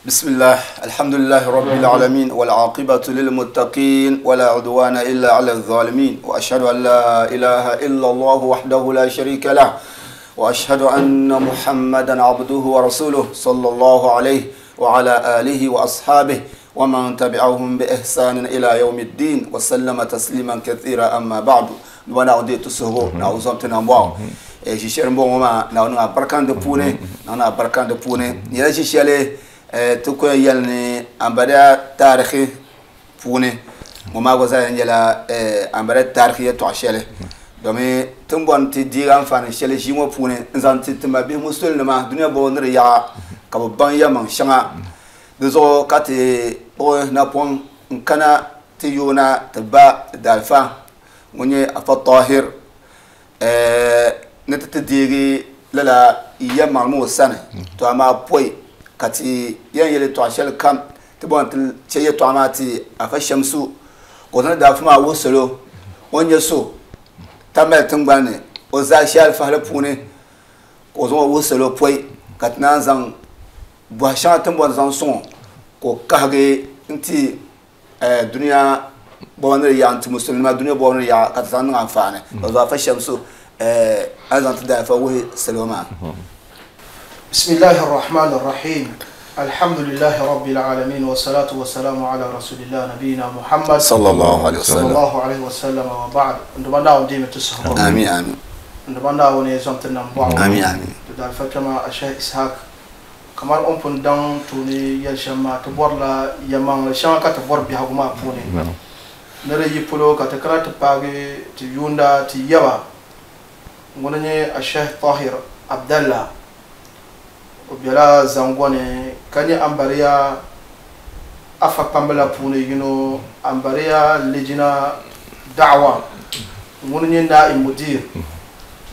بسم الله الحمد لله رب العالمين والعاقبة للمتقين ولا عدوان إلا على الظالمين وأشهد أن لا إله إلا الله وحده لا شريك له وأشهد أن محمدا عبده ورسوله صلى الله عليه وعلى آله وأصحابه ومن تبعهم بإحسان إلى يوم الدين وسلم تسليما كثيرا أما بعد وانا عدي تسهو نعوزم تنبواو شيشير مبو ما نعونا بركان دبوني نعونا بركان دبوني يا شيشيالي ti ku yɛn yɛli ni ambariya taarihi puuni ŋɔ maa gba zaa yɛn nyɛla ambariya taarihi yɛltɔɣa shɛli domi ti ni bɔri ni ti deegi anfaani shɛli ʒii ŋɔ puuni n zaŋ ti ti mabihi musulinima dunia bɔbu ni di yaɣa ka bi baŋ yɛlimaŋ shɛŋa di zuɣu ka ti kpuɣi napɔŋ n kana ti yoona ti ba daalifa ŋun nyɛ Afa Tahir ni ti ti deegi lala yɛlimaŋli maa o sani. To amaa pɔi ka ti yɛn yɛli yɛltɔɣa shɛli kam, ti bɔri ni ti chɛ yɛltɔɣa maa ti Afa Shamsu ka o zaŋ daafu maa wuhi salo o ni nyɛ so Tamale tiŋgbani ni o zaashee alifahili puuni ka o zaŋ o wuhi salo pɔi ka ti naan zaŋ bɔhi shɛŋa ti ni bɔri ni zaŋ sɔŋ o ka o kahigi n-ti dunia bɔbu ni di yaɣa n-ti musulinima dunia bɔbu ni di yaɣa ka ti zaŋ niŋ anfaani ka zuɣu Afa Shamsu a ni zaŋ ti daalifa wuhi salo maa. Bismillahi Rahman Rahim Alhamdulillahi Rabbil Alamin wa salatu wa salamu ala Rasulillah Nabiyina Muhammad Sallallahu alaihi wasallam. Sallallahu alaihi wasallam wa ba'd. N Duuma Naawuni deemi ti suhigu. Amin amin. N Duuma Naawuni zom ti nam bɔɣu. Amin amin. Ti daalifa kpɛma a Sheikh Ishaq Kamani o ni pun daŋ tooni yɛli shɛm maa, ti bɔrila yɛlimaŋli shɛŋa ka ti bɔri biɛhigu maa puuni. Ni di yi polo ka ti kana ti paagi ti yuunda ti yaba ŋuni n-nyɛ Asheh Tahir Abdallah. O bela Zangɔni ka nyɛ Ambariya Afa kpamba la puuni yino, Ambariya Lijina Da'awa ŋuni n-nyɛ Naib Mudir.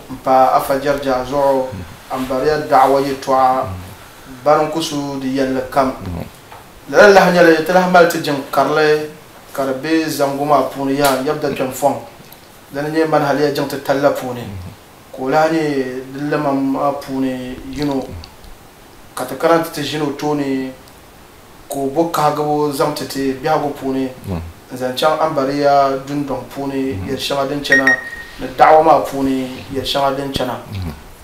M-pa Afa Jɛrija zuɣu, Ambariya da'awa yɛltɔɣa bari n-ku su di yɛlli kam. Lala lahi nyɛli ti lahi mali ti jiŋ karili ka di be zaŋgu maa puuni yaha n-yab dakpɛm fɔŋ. Dini n-nyɛ Manhaliya jiŋ titali la puuni ka o lahi nyɛ di limam maa puuni yino ka ti kana nti ti ʒini o tooni ka o bo kahigibu zaŋ ti ti biɛhigu puuni n-zaŋ chaŋ Ambariya dundɔŋ puuni yɛl shɛŋa din chana ni da'awa maa puuni yɛl shɛŋa din chana.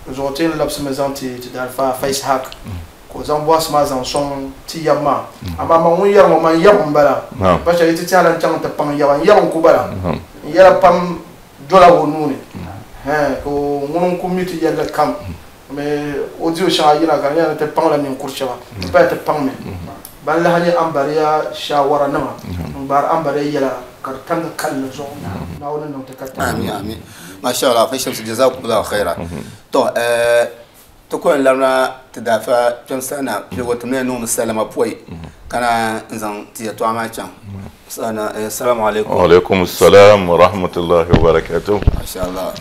N zuɣu ti yɛn labisimi zaŋ ti ti daalifa Afa Ishaq ka o zaŋ bɔhisi maa zaŋ sɔŋ ti yab maa. Amaa man ŋun yɛri ŋɔ, man yab m-bala. Pa shɛli yi ti tɛhila n chaŋ nti paŋ yaba, n yab n-ku bala. N yɛla pam dola o nuu ni, hɛn, ka o ŋuni n-ku mi ti yɛlli kam. Mi o di o shɛŋa yina ka di nyɛla ni ti paŋla ninkuri shɛba, ti paya ti paŋmi ban lahi nyɛ ambariya shaawaranima n-gbaari ambariya yɛla ka di tamdi kalinli zuɣu. Naawuni ni niŋ ti ka taba. Amin amin. Masha Allah, fa Shamsu jazakumullahu khaira. To ti ku yɛn labina ti daafa kpɛm sana piligu ti mini niŋmi salima pɔi ka na n zaŋ ti yɛltɔɣa maa chaŋ. Sana assalamu alaikum. Wa alaikum assalam wa rahmatullahi wa barakatuh. Masha Allah.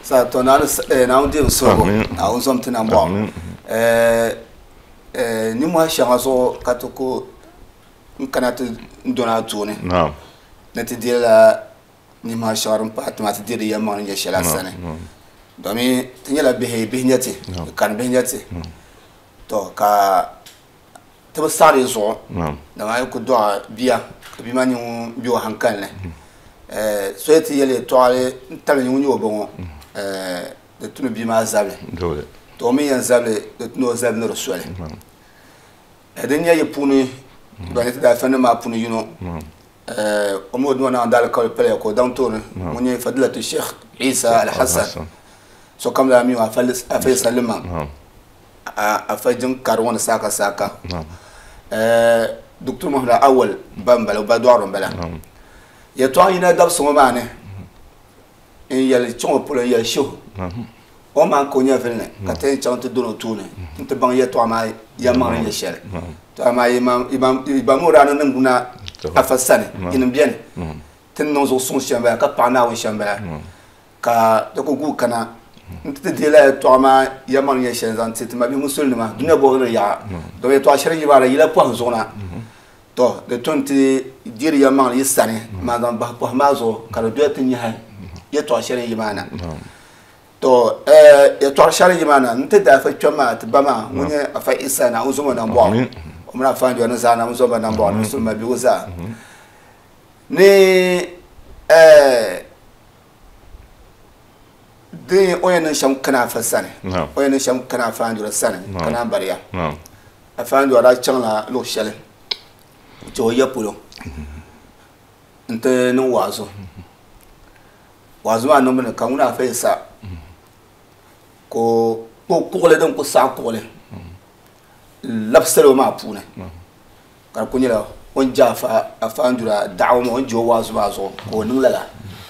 Sa to na Naawuni deemi suhigu, Naawuni zom ti nambɔɣu. Nimmohi shɛŋa zuɣu ka ti ku n kana ti dɔni a tooni ni ti deerila nimmohi shɛŋa din pahi ti maa ti deeri yɛlimaŋli ni nyɛ shɛli a sani. Domi ti nyɛla bihi, bihi nyɛ ti, kani bihi nyɛ ti. To ka ti bi saɣiri yi zuɣu, dama a yi ku dɔɣi bia ka bia maa nyɛ ŋun be o hankali ni, so yi ti yɛli yɛtɔɣili n-tabili ŋun nyɛ o ba ŋɔ, di tu ni bia maa zabili. To o mi yɛn zabili, di tu ni o zabili ni di soli. Din nyɛ yi puuni, ban nyɛ ti daalifanima maa puuni yino, o mi o Duuma Naawuni daalikauli paliya ka o daŋ tooni, ŋun nyɛ Fadilatu Sheikh Isa Alhassan, sokam daa mi o Afa Isa Liman. Afa jiŋ kari ŋɔ ni saaka saaka Doctor Muhammad Awal ba m-bala o ba dɔɣiri m-bala yɛltɔɣa yina dabisi ŋɔ maa ni n yɛli chaŋ o polo n yɛli shihu o maa ka o nyɛvili ni ka ti yɛn chaŋ ti dɔni o tooni nti baŋ yɛltɔɣa maa yɛlimaŋli ni nyɛ shɛli to amaa yi ba mi o daa niŋ niŋgbuna afa sani yinim beni ti ni niŋ zuɣu suŋ shɛm bala ka paɣi Naawuni shɛm bala Ka di ku guui kana nti ti deei lala yɛtɔɣa maa yɛlimaŋli nyɛ shɛli n-zaŋ ti ti mabihi musulinima dunia bɔbu ni di yaɣa. Domi yɛtɔɣa shɛli yi maa di yila pɔhim zuɣu na. Tɔ! Di tu nti deeri yɛlimaŋli yi sani maa zaŋ bahi pɔhim maa zuɣu ka di doli ti nyahi yɛtɔɣa shɛli yi maa na. Tɔ! Yɛtɔɣa shɛli yi maa na nti daafa kpɛm maa ti ba maa ŋun nyɛ Afa Isa Naawuni zom o nambɔɣu. O mini afa Anjura ni zaa na zomba nambɔɣu ni musulima bigu zaa. Ni din o yɛn niŋ shɛm kana afa sani, o yɛn niŋ shɛm kana afa Anjura sani, kana ambariya. Afa Anjura daa chaŋla luɣ shɛli n-chɛ o ya polo nti niŋ waazu. Waazu maa niŋbu ni ka ŋuna afa Yisa ka o kpuɣi kuɣili din ku saɣi kuɣili n-labi salo maa puuni ka di ku nyɛla o ni je afa Anjura daɣu maa, o ni je o waazu maa zuɣu ka o niŋ lala.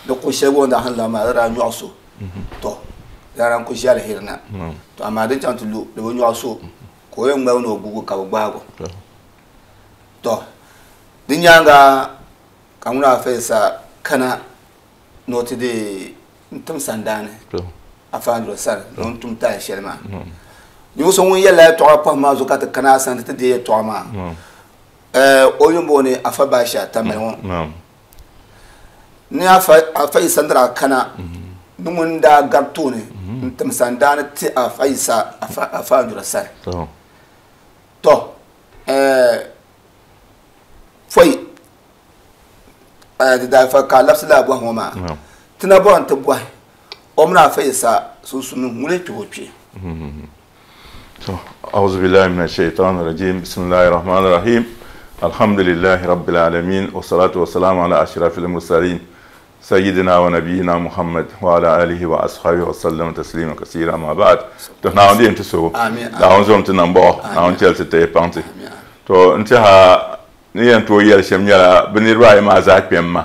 Di kuɣ shɛli gba o ni daa han labi maa di daa nyɔɣi so, tɔ di daa lahi ku ʒe aliheri na. Tɔ amaa din chaŋ ti lu di bi nyɔɣi so ka o yɛn ŋmaligi ni o guugi ka bɛ gbaagi o. Tɔ di nyaaŋa ka ŋuna afa Yisa kana ni o ti deei n-tim sandaani afa Anjura sani ni o ni tum taali shɛli maa. Ninvuɣ so ŋun yɛlila yɛtɔɣa pɔhim maa zuɣu ka ti kana a sani ti ti deei yɛtɔɣa maa, o yuli m-booni Afa Baasha Tamale ŋɔ. Ni Afa Yisa ni daa kana ni ŋun daa gari tooni n-tim sandaani ti Afa Yisa Afa Anjura sani. Tɔ! Pɔi di daa fa ka a labisi lala bɔhigu ŋɔ maa, ti na bɔri ni ti bɔhi o mini Afa Yisa sunsuuni ŋuni n-kpɛh o kpee? أعوذ بالله من الشيطان الرجيم بسم الله الرحمن الرحيم الحمد لله رب العالمين والصلاة والسلام على أشرف المرسلين سيدنا ونبينا محمد وعلى آله وأصحابه وسلم تسليما كثيرا ما بعد to Naawuni di yɛn ti so Naawuni zom ti nambɔɣu Naawuni chɛli ti teei paŋ ti to n tiɛha ni yɛn tooi yɛli shɛm nyɛla bɛ niriba ayi maa zaa kpɛm ma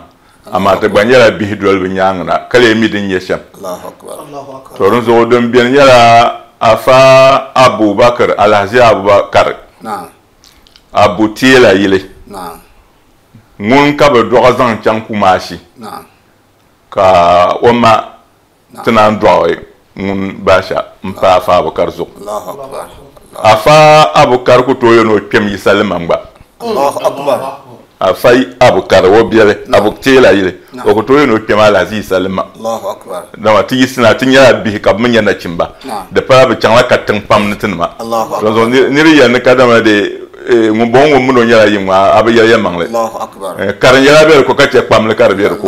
amaa ti gba nyɛla bihi doli bɛ nyaaŋa na ka lee mi din nyɛ shɛm. To dinzuɣu din beni nyɛla Afa Abubakar Alhaji Abubakar Abu Teela yili ŋun ka bɛ dɔɣi zaŋ chaŋ Kumasi ka o ma ti naan dɔɣi ŋun Baasha m-pa Afa Abukar zuɣu. Afa Abukar ku tooi yɛn o kpɛm Yisa Liman gba. Afa Abukar o biɛli, Abu Teela yili, o ku tooi yɛn o kpɛm Alhaji Yisa Liman. Dama ti yiɣisina ti nyɛla bihi ka bɛ mi nyɛ nachimba. Di pala bɛ chaŋla katiŋ pam ni tinima. Dinzuɣu nir yɛli ni kadama dee ŋun bɔŋɔ ŋun mini o nyɛla yim ŋɔ, a bi yɛli yɛlimaŋli. Karin yɛla be di ko ka chɛ kpamli ka di be di ko.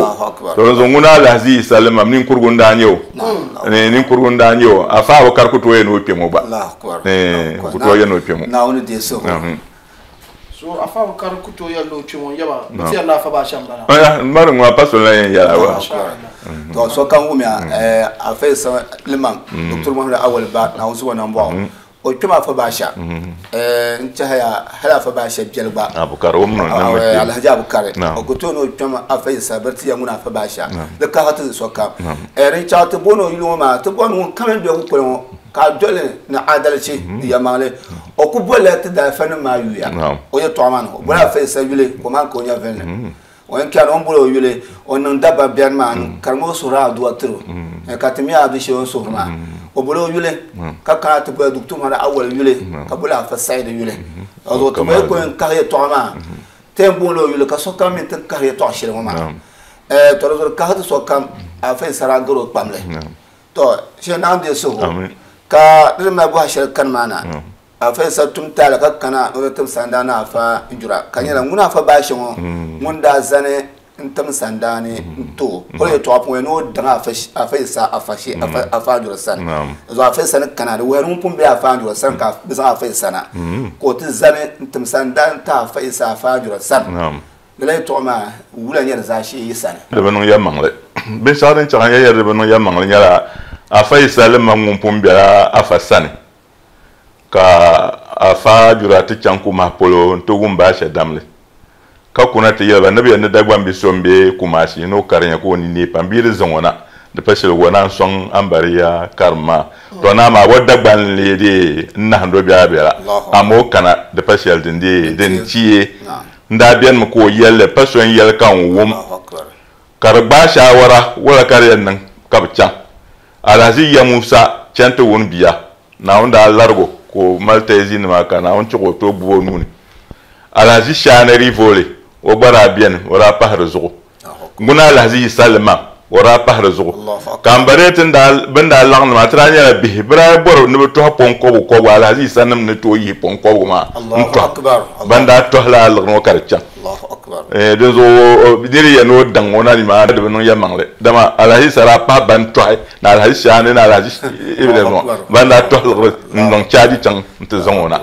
To dinzuɣu ŋuna Alhaji Yisa Limam ninkurugu n-daa nyɛ o. Ninkurugu n-daa nyɛ o. Afa Abukar ku tooi yɛn o kpɛm o gba. Ku tooi yɛn o kpɛm o. Naawuni deei suhu. So Afa Abukar ku tooi yɛn o kpɛm o n-yaba bɛ ti yɛn ni Afa Baasha m-bala. M bari ŋɔ pa so n-lahi yɛn yɛla gba. To sokam wumiya Afa Yisa Limam Doctor Muhammad Awal Ba Naawuni suhu nambɔɣu. O kpɛm Afa Baasha n tɛhiya hali Afa Baasha biɛli gba Abukari o mini o nambi kpɛm. Alhaji Abukari o ku tooi ni o kpɛm Afa Yisa biri ti ya ŋuni Afa Baasha di kahi ti sokam. Din chaɣ ti booni o yuli ŋɔ maa ti bɔri ni ŋun kam yɛn be kukoli ŋɔ ka a doli ni adalichi ni yɛlimaŋli o ku bolila ti daalifanim maa yuya o yɛtɔɣa maa ni o boli Afa Yisa yuli ka o maan ka o nya viɛlli. O yɛn kpɛri o ni boli o yuli o niŋ dabba biɛri maa ni karimi o suhuri aduwa tiri o ka ti mi a du shɛli o ni suhuri maa o boli o yuli ka kana ti boli Duktu Muhammad Awal yuli ka boli Afa Saidi yuli o zuɣu ti boli ka o yɛn kahi yɛltɔɣa maa ti yɛn booni o yuli ka sokam mi ti kahi yɛltɔɣa shɛli ŋɔ maa to di zuɣu kahi ti sokam Afa Yisa daa gari o kpamli to shee Naawuni deei suhigu ka di ni mali bɔha shɛli kani maa na Afa Yisa tum taali ka kana ni o ti tim sandaani Afa Jura ka nyɛla ŋun Afa Baashe ŋɔ ŋun daa zani n-tim sandaani n-ti o. O yɛltɔɣa puuni ni o daŋ Afa Yisa Afa Jura sani. Zuɣu Afa Yisa ni kana di wuhiya ni ŋun pun be Afa Jura sani ka bɛ zaŋ Afa Yisa na ka o ti zani n-tim sandaani n-ti Afa Yisa Afa Jura sani. Lala yɛltɔɣa maa wula nyɛ di zaashee yi sani? Di bi niŋ yɛlimaŋli. Binshɛɣu din chaŋ n-yɛli di bi niŋ yɛlimaŋli nyɛla Afa Yisa Limam ŋun pun bela Afa sani. Ka Afa Jura ti chaŋ Kumahi polo nti wum Baasha damli, ka kuna ti yɛli ba ni bɛ yɛn ni Dagbaŋ bi so m-be Kumasi ni o karinya ka o ni neei pam bee di zaŋ o na, di pa shɛli o naan sɔŋ Ambariya karim maa. Tɔ naa maa o Dagbaŋ n-lee dee n-nahindi o biɛlabiɛla, amaa o kana di pa shɛli din dee din ti n-daa benimi ka o yɛli li, pa so n-yɛli ka n wum, ka di gbaai shaawara wula ka di yɛn niŋ ka bɛ chaŋ. Alhaji Ya Musa chani ti wuni bia, Naawuni daa larig o ka o mali tayizinima ka Naawuni chɛ ka o tooi gbubi o nuu ni. Alhaji Shaani Rivoli, o gba daa beni, o daa pahi di zuɣu. Ŋuna Alhaji Yisa Limam, O daa pahiri zuɣu ka n ba dee bɛn daa laɣim maa ti daa nyɛla bihi bɛ daa bɔri ni bɛ tɔhi pɔŋ kɔbigu kɔbigu Alhaji Yisa nim ni tooi yihi pɔŋ kɔbigu maa n-tɔhi ban daa tɔhi lala liɣiri ŋɔ ka di chaŋ. Dinzuɣu niri yɛn ni o daŋ o na nimaani di bi niŋ yɛlimaŋli dama Alhaji Yisa daa pahi ban tɔhi ni Alhaji Shaani ni Alhaji Ibrahim ŋɔ ban daa tɔhi liɣiri n-niŋ chaaji chaŋ nti zaŋ o na.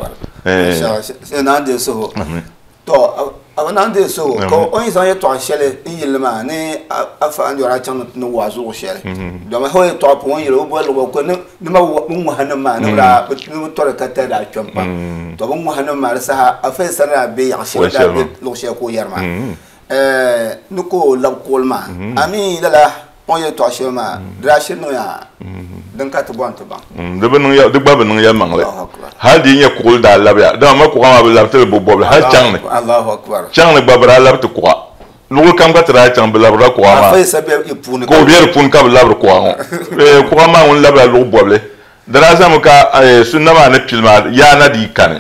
To a bi naan deei so ka o ni zaŋ yɛtɔɣa shɛli n yili maa ni afa Andɔra a chaŋ ni waazu luɣ shɛli dama o yɛtɔɣa puuni o ni yɛli o boli luɣ ko ni ma bɛ ŋɔhi nim maa ni bɛ tɔri ka tali daa kpɛm pam to bɛ ŋɔhi nim maa di saha afa yi sani daa be yaɣ shɛli daa be luɣ shɛli ka o yɛri maa ni ka o labi kuɣili maa a mi lala o ni yɛtɔɣa shɛli maa di daa shiri niŋya din ka ti bɔri ti baŋ. Di gba bi niŋ yɛlimaŋli. Hal di yi nyɛ kuɣili daa labiya, dama ma kuɣa maa bi labi ti li bo bɔbili hal chaŋ ni. Chaŋ ni gba bi daa labi ti kuɣa. Luɣili kam ka ti daa chaŋ bi labirila kuɣa maa. Ka o be di puuni ka bi labiri kuɣa ŋɔ. Kuɣa maa ŋun labila luɣ bɔbili. Di daa zaŋmi ka sunna maa ni pili maa yaa na dii kani.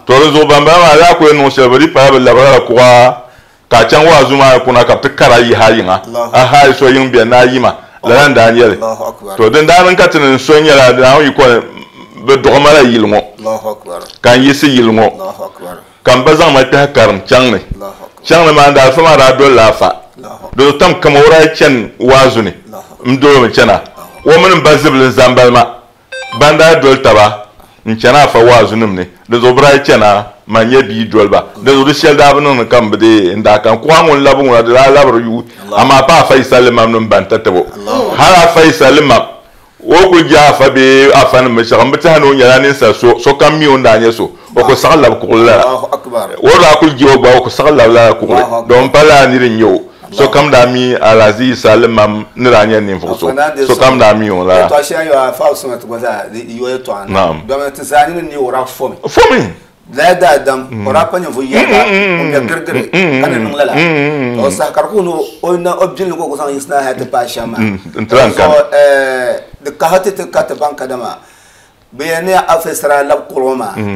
To di zuɣu bambala maa daa ku yɛn niŋ shɛli bɛ dii pala bɛ labirila kuɣa Ka a chaŋ waazu maa ni kuna ka bɛ ti kar a yihi a yiŋa, a haai so yiŋ bɛn ni a yima, lala n-daa nyɛ li. To din daa niŋ ka ti ni n so nyɛla Naawuni yiko ni bɛ dɔɣi ma la yili ŋɔ, ka n yiɣisi yili ŋɔ, ka m ba zaŋ ma kpɛhi karim chaŋ ni. Chaŋ ni maa n daalifa maa daa dolila afa. Di tam kaman o daa yi chani waazu ni, m doli o mi chana. O mini m ba zibili n-zambali ma. Ban daa doli taba n-chani afa waazunim ni, di zuɣu bɛ daa yi chana, man nyɛ bia doli ba. Di zuɣu di shɛli daa bi niŋdi ka m bi deei n daa kan kuɣa ŋun labi ŋuna, di daa labiri yuui. Amaa pa afa Yisa limam ni m-ban tatabo. Hal afa Yisa limam, o kul je afa bee afanim mi shɛɣu, m bi tɛhi ni o nyɛla ninsal so, sokam mi o ni daa nyɛ so, o ku saɣi labi kuɣili lala. O daa kul je o gba, o ku saɣi labi lala kuɣili, domin pa lala nir n-nyɛ o. Sokam daa mi Alhaji Yisa Limam ni daa nyɛ ninvuɣ so. Sokam daa mi o lala. Naam. Fomi. N-ti lan kani.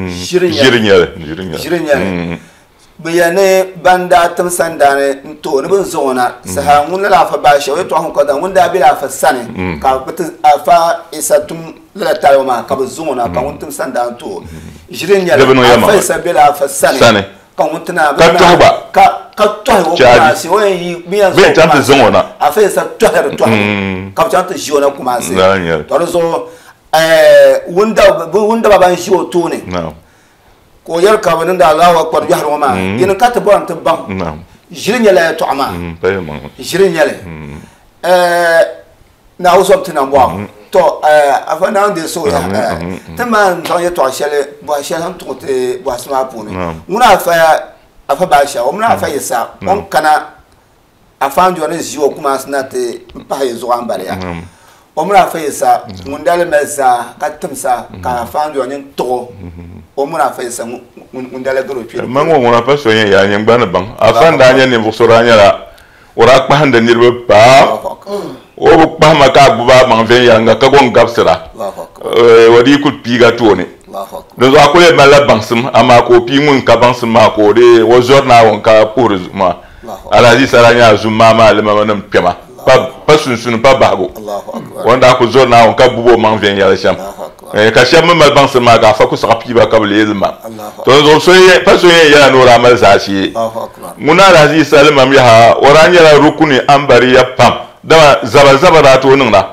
Ʒiri n-nyɛ li. Ʒiri n-nyɛ li. Bɛ yɛli ni ban daa tim sandaani n-ti o ni bɛ ni zaŋ o na saha ŋun lala Afa Baasha o yɛtɔɣa ŋɔ ka ŋun daa bela Afa sani ka bɛ ti Afa Isa tum lala taribu maa ka bɛ zaŋ o na ka ŋun tim sandaani n-ti o. Ʒiri n-nyɛ li, Afa Isa bela Afa sani ka ŋun ti na Ka tɔhi gba. Ka tɔhi o Kumasi o yɛn yi bɛ yɛn zaŋ o Kumasi Afa Isa tɔhiri tɔhibu ka bɛ chaŋ ti ʒi o na Kumasi. Tɔ di zuɣu wundaba ban ʒi o tooni Ka o yɛli ka bɛ niŋdi Allahu Akbar yɔhiri ŋɔ maa, yini ka ti bɔri ni ti baŋ ʒiri nyɛla yɛtɔɣa maa, ʒiri n-nyɛ li. Naawuni zom ti nambɔɣu. Tɔ Afa Naawuni deei suhu yaha. Ti maan zaŋ yɛtɔɣa shɛli bɔhi shɛli n tuɣi ti bɔhisi maa puuni. Ŋuna Afa Afa Baasha, o mini Afa Yisa, o ni kana Afa Anjɔ ni ʒi o Kumasi na ti pahi yi zuɣu ambaliya. O mini Afa Yisa ŋun daa lee mali zaa ka timsa ka Afa Anjɔ nyin tuɣi o, o mini Afa Yisa ŋun daa lee gari o kpee. Man ŋɔ ŋuna pa so yɛn yaa nyin gba ni baŋ. Afa n-daa nyɛ ninvuɣ so daa nyɛla o daa kpahindi niriba pam. O bi kpahi ma ka a gbubi a maŋ viɛnyɛliŋga ka go n-gabisira. O dii kul piig a tooni. Dinzuɣu a kul yɛn malila baŋsim, amaa ka o pii ŋun ka baŋsim maa ka o dee o zɔri Naawuni ka puhiri zuɣu maa. Alhaji Sara nyɛla zummaa maa limama nim kpɛma, pa sunsuni, pa bahigu. O ni daa kuli zɔri Naawuni ka gbubi o maŋ viɛnyɛla shɛm. Ka shɛba mi mali baŋsim maa ka afa ku saɣi pii ba ka bɛ leei limam. To di zuɣu pa so yɛn yɛla ni o daa mali zaashee. Ŋuna Alhaji Isa limam yaha, o daa nyɛla rukuni ambariya pam, dama zaba zaba daa tooi niŋda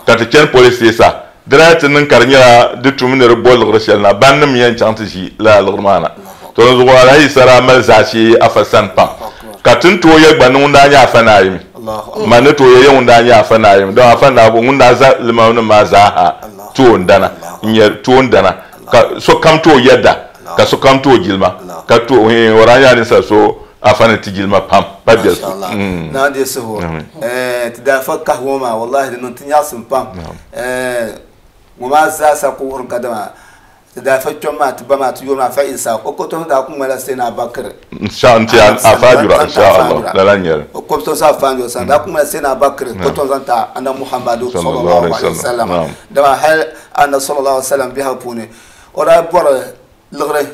ka ti chani police station. Di daa ti niŋ ka di nyɛla di tumi ni di bo liɣiri shɛli na, bannim yɛn chaŋ ti ʒi lala liɣiri maa na. To di zuɣu Alhaji Isa daa mali zaashee Afa sani pam, ka ti ni tooi yɛli gba ni ŋun daa nyɛ Afa Naayimi. Man ni tooi yɛli ya ŋun daa nyɛ Afa Naayimi, dama Afa Naawuni ŋun daa za limamnim maa zaa ha toondana n-nyɛ toondana, ka sokam tooi yɛda, ka sokam tooi jilima, ka tooi, o daa nyɛla ninsal so Afa ni ti jilima pam, pa biɛlifu. Masha Allah. Naa deei suhu. Ti daa fa kahi ŋɔ maa, wallahi di niŋ ti nyaɣisim pam. Ŋɔ maa zaa sa ku wuhiri kadama ti daa fa kpɛm maa, ti ba maa, ti yuri maa, fa Isa, o kotomsi daa ku ŋmanila Sayyidina Abubakar. Insha nti Afa Ajura, insha Allah, lala n-nyɛ li. O kotomsi Afa Ajura sani daa ku ŋmanila Sayyidina Abubakar kotomsi zaŋ ti Annabi Muhammadu sallallahu alaihi wasallam. Dama hali Annabi sallallahu alaihi wasallam biɛhigu puuni o daa bɔri liɣiri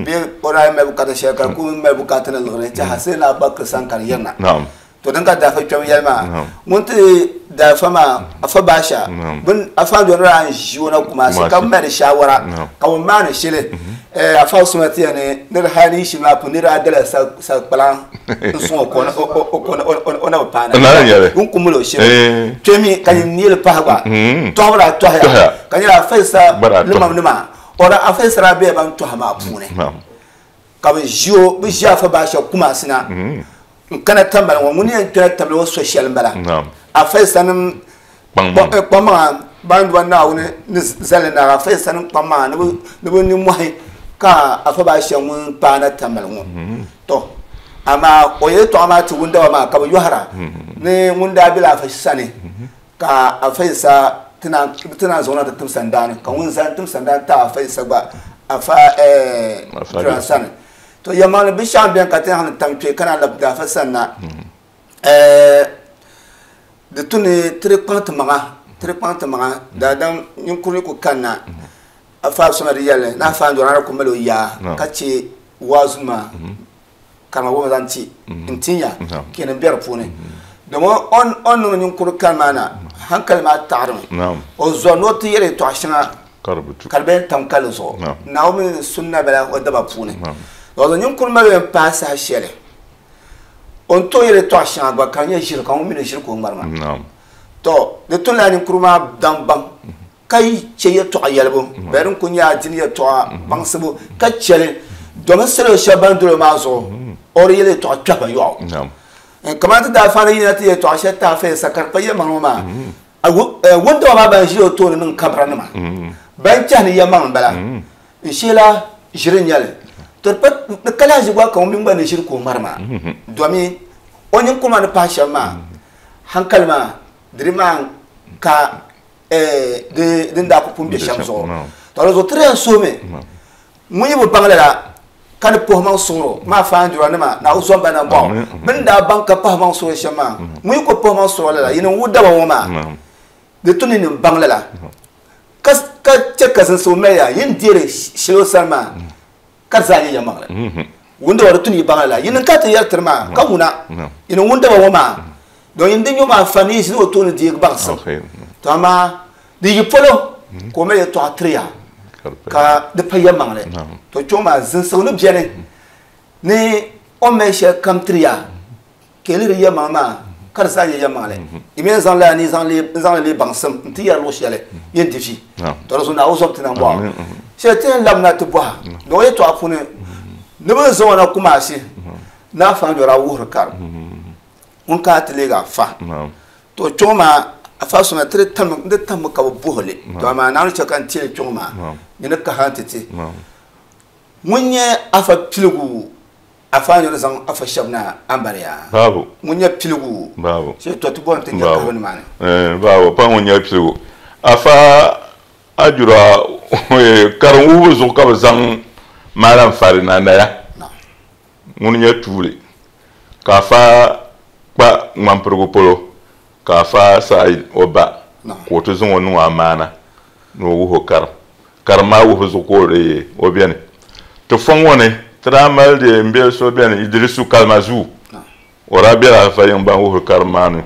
bee o daa mali bukaata shɛli ka di ku mali bukaata ni liɣiri n-tɛha Sayyidina Abubakar sani ka di yirina. To din ka daafa kpɛm yɛli maa ŋun ti daafa maa afa baasha bin afa dɔni daa ʒi o na Kumasi ka mali shawara ka bi maani shili afa suma ti yɛni ni di hali ni shili maa pun ni daa dala sakpalaŋ n sɔŋ o ka o na bi paana n ku mali o shili kpɛmi ka nyin neeli pahi gba tɔhibu daa tɔhiya ka nyɛla afa Isa limam nima o daa afa Isa daa bela ban tɔhi maa puuni ka bi ʒi o bi ʒi afa baasha Kumasi na n kana tambali ŋɔ ŋuni yɛn kpɛna tambali ŋɔ so shɛli n bala afa Isa nim kpaŋmaŋa ban duba Naawuni ni zali na afa Isa nim kpaŋmaŋa ni bi nimmohi ka afa baasha ŋun paana tambali ŋɔ to amaa o yɛltɔɣa maa ti wundaba maa ka bi yɔhira ni ŋun daa bela afa sani ka afa Isa ti naan zaŋ na ti tim sandaani ka ŋun zaŋ tim sandaani ti afa Isa gba afa jira sani to yɛlimaŋli binshaɣu n bɛni ka ti yɛn tam kpɛ ka naan labi daafa sanna di tu ni tiri kpaŋ ti maŋa tiri kpaŋ ti maŋa daadam ninkuri ku kanna afa soma di yɛlli ni afa n dɔra ku mali o yaa ka chɛ waazu maa karima boma zaŋ ti n tinya kenan bɛ di puuni domi o ni niŋ ninkuri kani maa na hankali maa taɣarimi o zɔri ni o ti yɛli yɛltɔɣa shɛŋa ka di bɛn tam kali zuɣu Naawuni mini sunna bala o daba puuni o ninkuri mali yɛn paai saha shɛli o ni tooi yɛli yɛltɔɣa shɛŋa gba ka di nyɛ ʒiri ka ŋun mi ni ʒiri ka o ŋmari maa to di tun la ninkuri maa daŋ baŋ ka chɛ yɛltɔɣa yɛlibu bee din ku nyɛ adini yɛltɔɣa baŋsibu ka chɛli domin salo shɛba ban doli o maa zuɣu o di yɛli yɛltɔɣa kpɛhi ba yɔɣu kamani ti daa faani yina ti yɛltɔɣa shɛli ti afa Isa ka di pa yɛlimaŋli ŋɔ maa wundaba maa ban ʒi o tooni niŋ kabira nima ban chɛhi ni yɛlimaŋli n bala n sheela ʒiri n nyɛli to di ka lahi ʒi gba ka ŋun mini gba ni ʒiri ka o ŋmari maa domi o ninkuri maa ni pahi shɛm maa hankali maa di maa ka din daa ku pun bɛ shɛm zuɣu to di zuɣu ti di yɛn suhumi ŋun yi bi baŋ lala ka ni puhi maŋ suŋro maa faandura nima na o zɔmba na bɔɣu bini daa baŋ ka pahi maŋ suŋro shɛm maa ŋun yi ku puhi maŋ suŋro lala yini n daba ŋɔ maa di tu ni nim baŋ lala ka chɛ ka zinsibu mali ya yin deeri shɛli o sani maa ka di zaa nyɛ yɛlimaŋli wundaba di tu ni yi baŋ lala yini ka ti yɛri tiri maa ka ŋuna yini wundaba ŋɔ maa don yin di nyɔ maa fa ni yi ʒini o tooni deegi baŋsim to amaa di yi polo ka o mali yɛltɔɣa tiri ya ka di pa yɛlimaŋli to kpɛŋɔ maa zinsigu ni biɛni ni o ni mali shɛli kam tiri ya ka yi lihiri yɛlimaŋli maa ka di zaa nyɛ yɛlimaŋli yi mi yɛn zaŋ lala ni zaŋ li leei baŋsim n ti yɛri luɣu shɛli yɛn di vi to di zuɣu Naawuni zom ti nambɔɣu shɛli ti yɛn labina ti bɔha ni o yɛltɔɣa puuni ni bi zaŋ o na Kumasi ni afa n-yɔri a wuhiri karim ŋun kana ti leegi afa to kpɛŋɔ maa afa soma ti di tammi ka bi buhi li to amaa Naawuni chɛ ka n teeli kpɛŋɔ maa nyini kaha n ti ti ŋun nyɛ afa piligu afa nyɔri zaŋ afa shɛba na ambariya ŋun nyɛ piligu shee to ti bɔri ti nyɛ kahibu nimaani babu pa ŋun nyɛ piligu afa ajura karim wuhibu zuɣu ka bi zaŋ maalam fari na naya ŋun nyɛ tuuli ka afa kpa ŋmanpirigu polo ka afa saɣi o ba ka o ti zaŋ o niŋ o amaana ni o wuhi o karim karim maa wuhibu zuɣu ka o beni ti fɔŋ ŋɔ ni ti daa mali di n be so beni Idrisu Kalmazuu o daa bela afa yiŋ ban wuhiri karim maa ni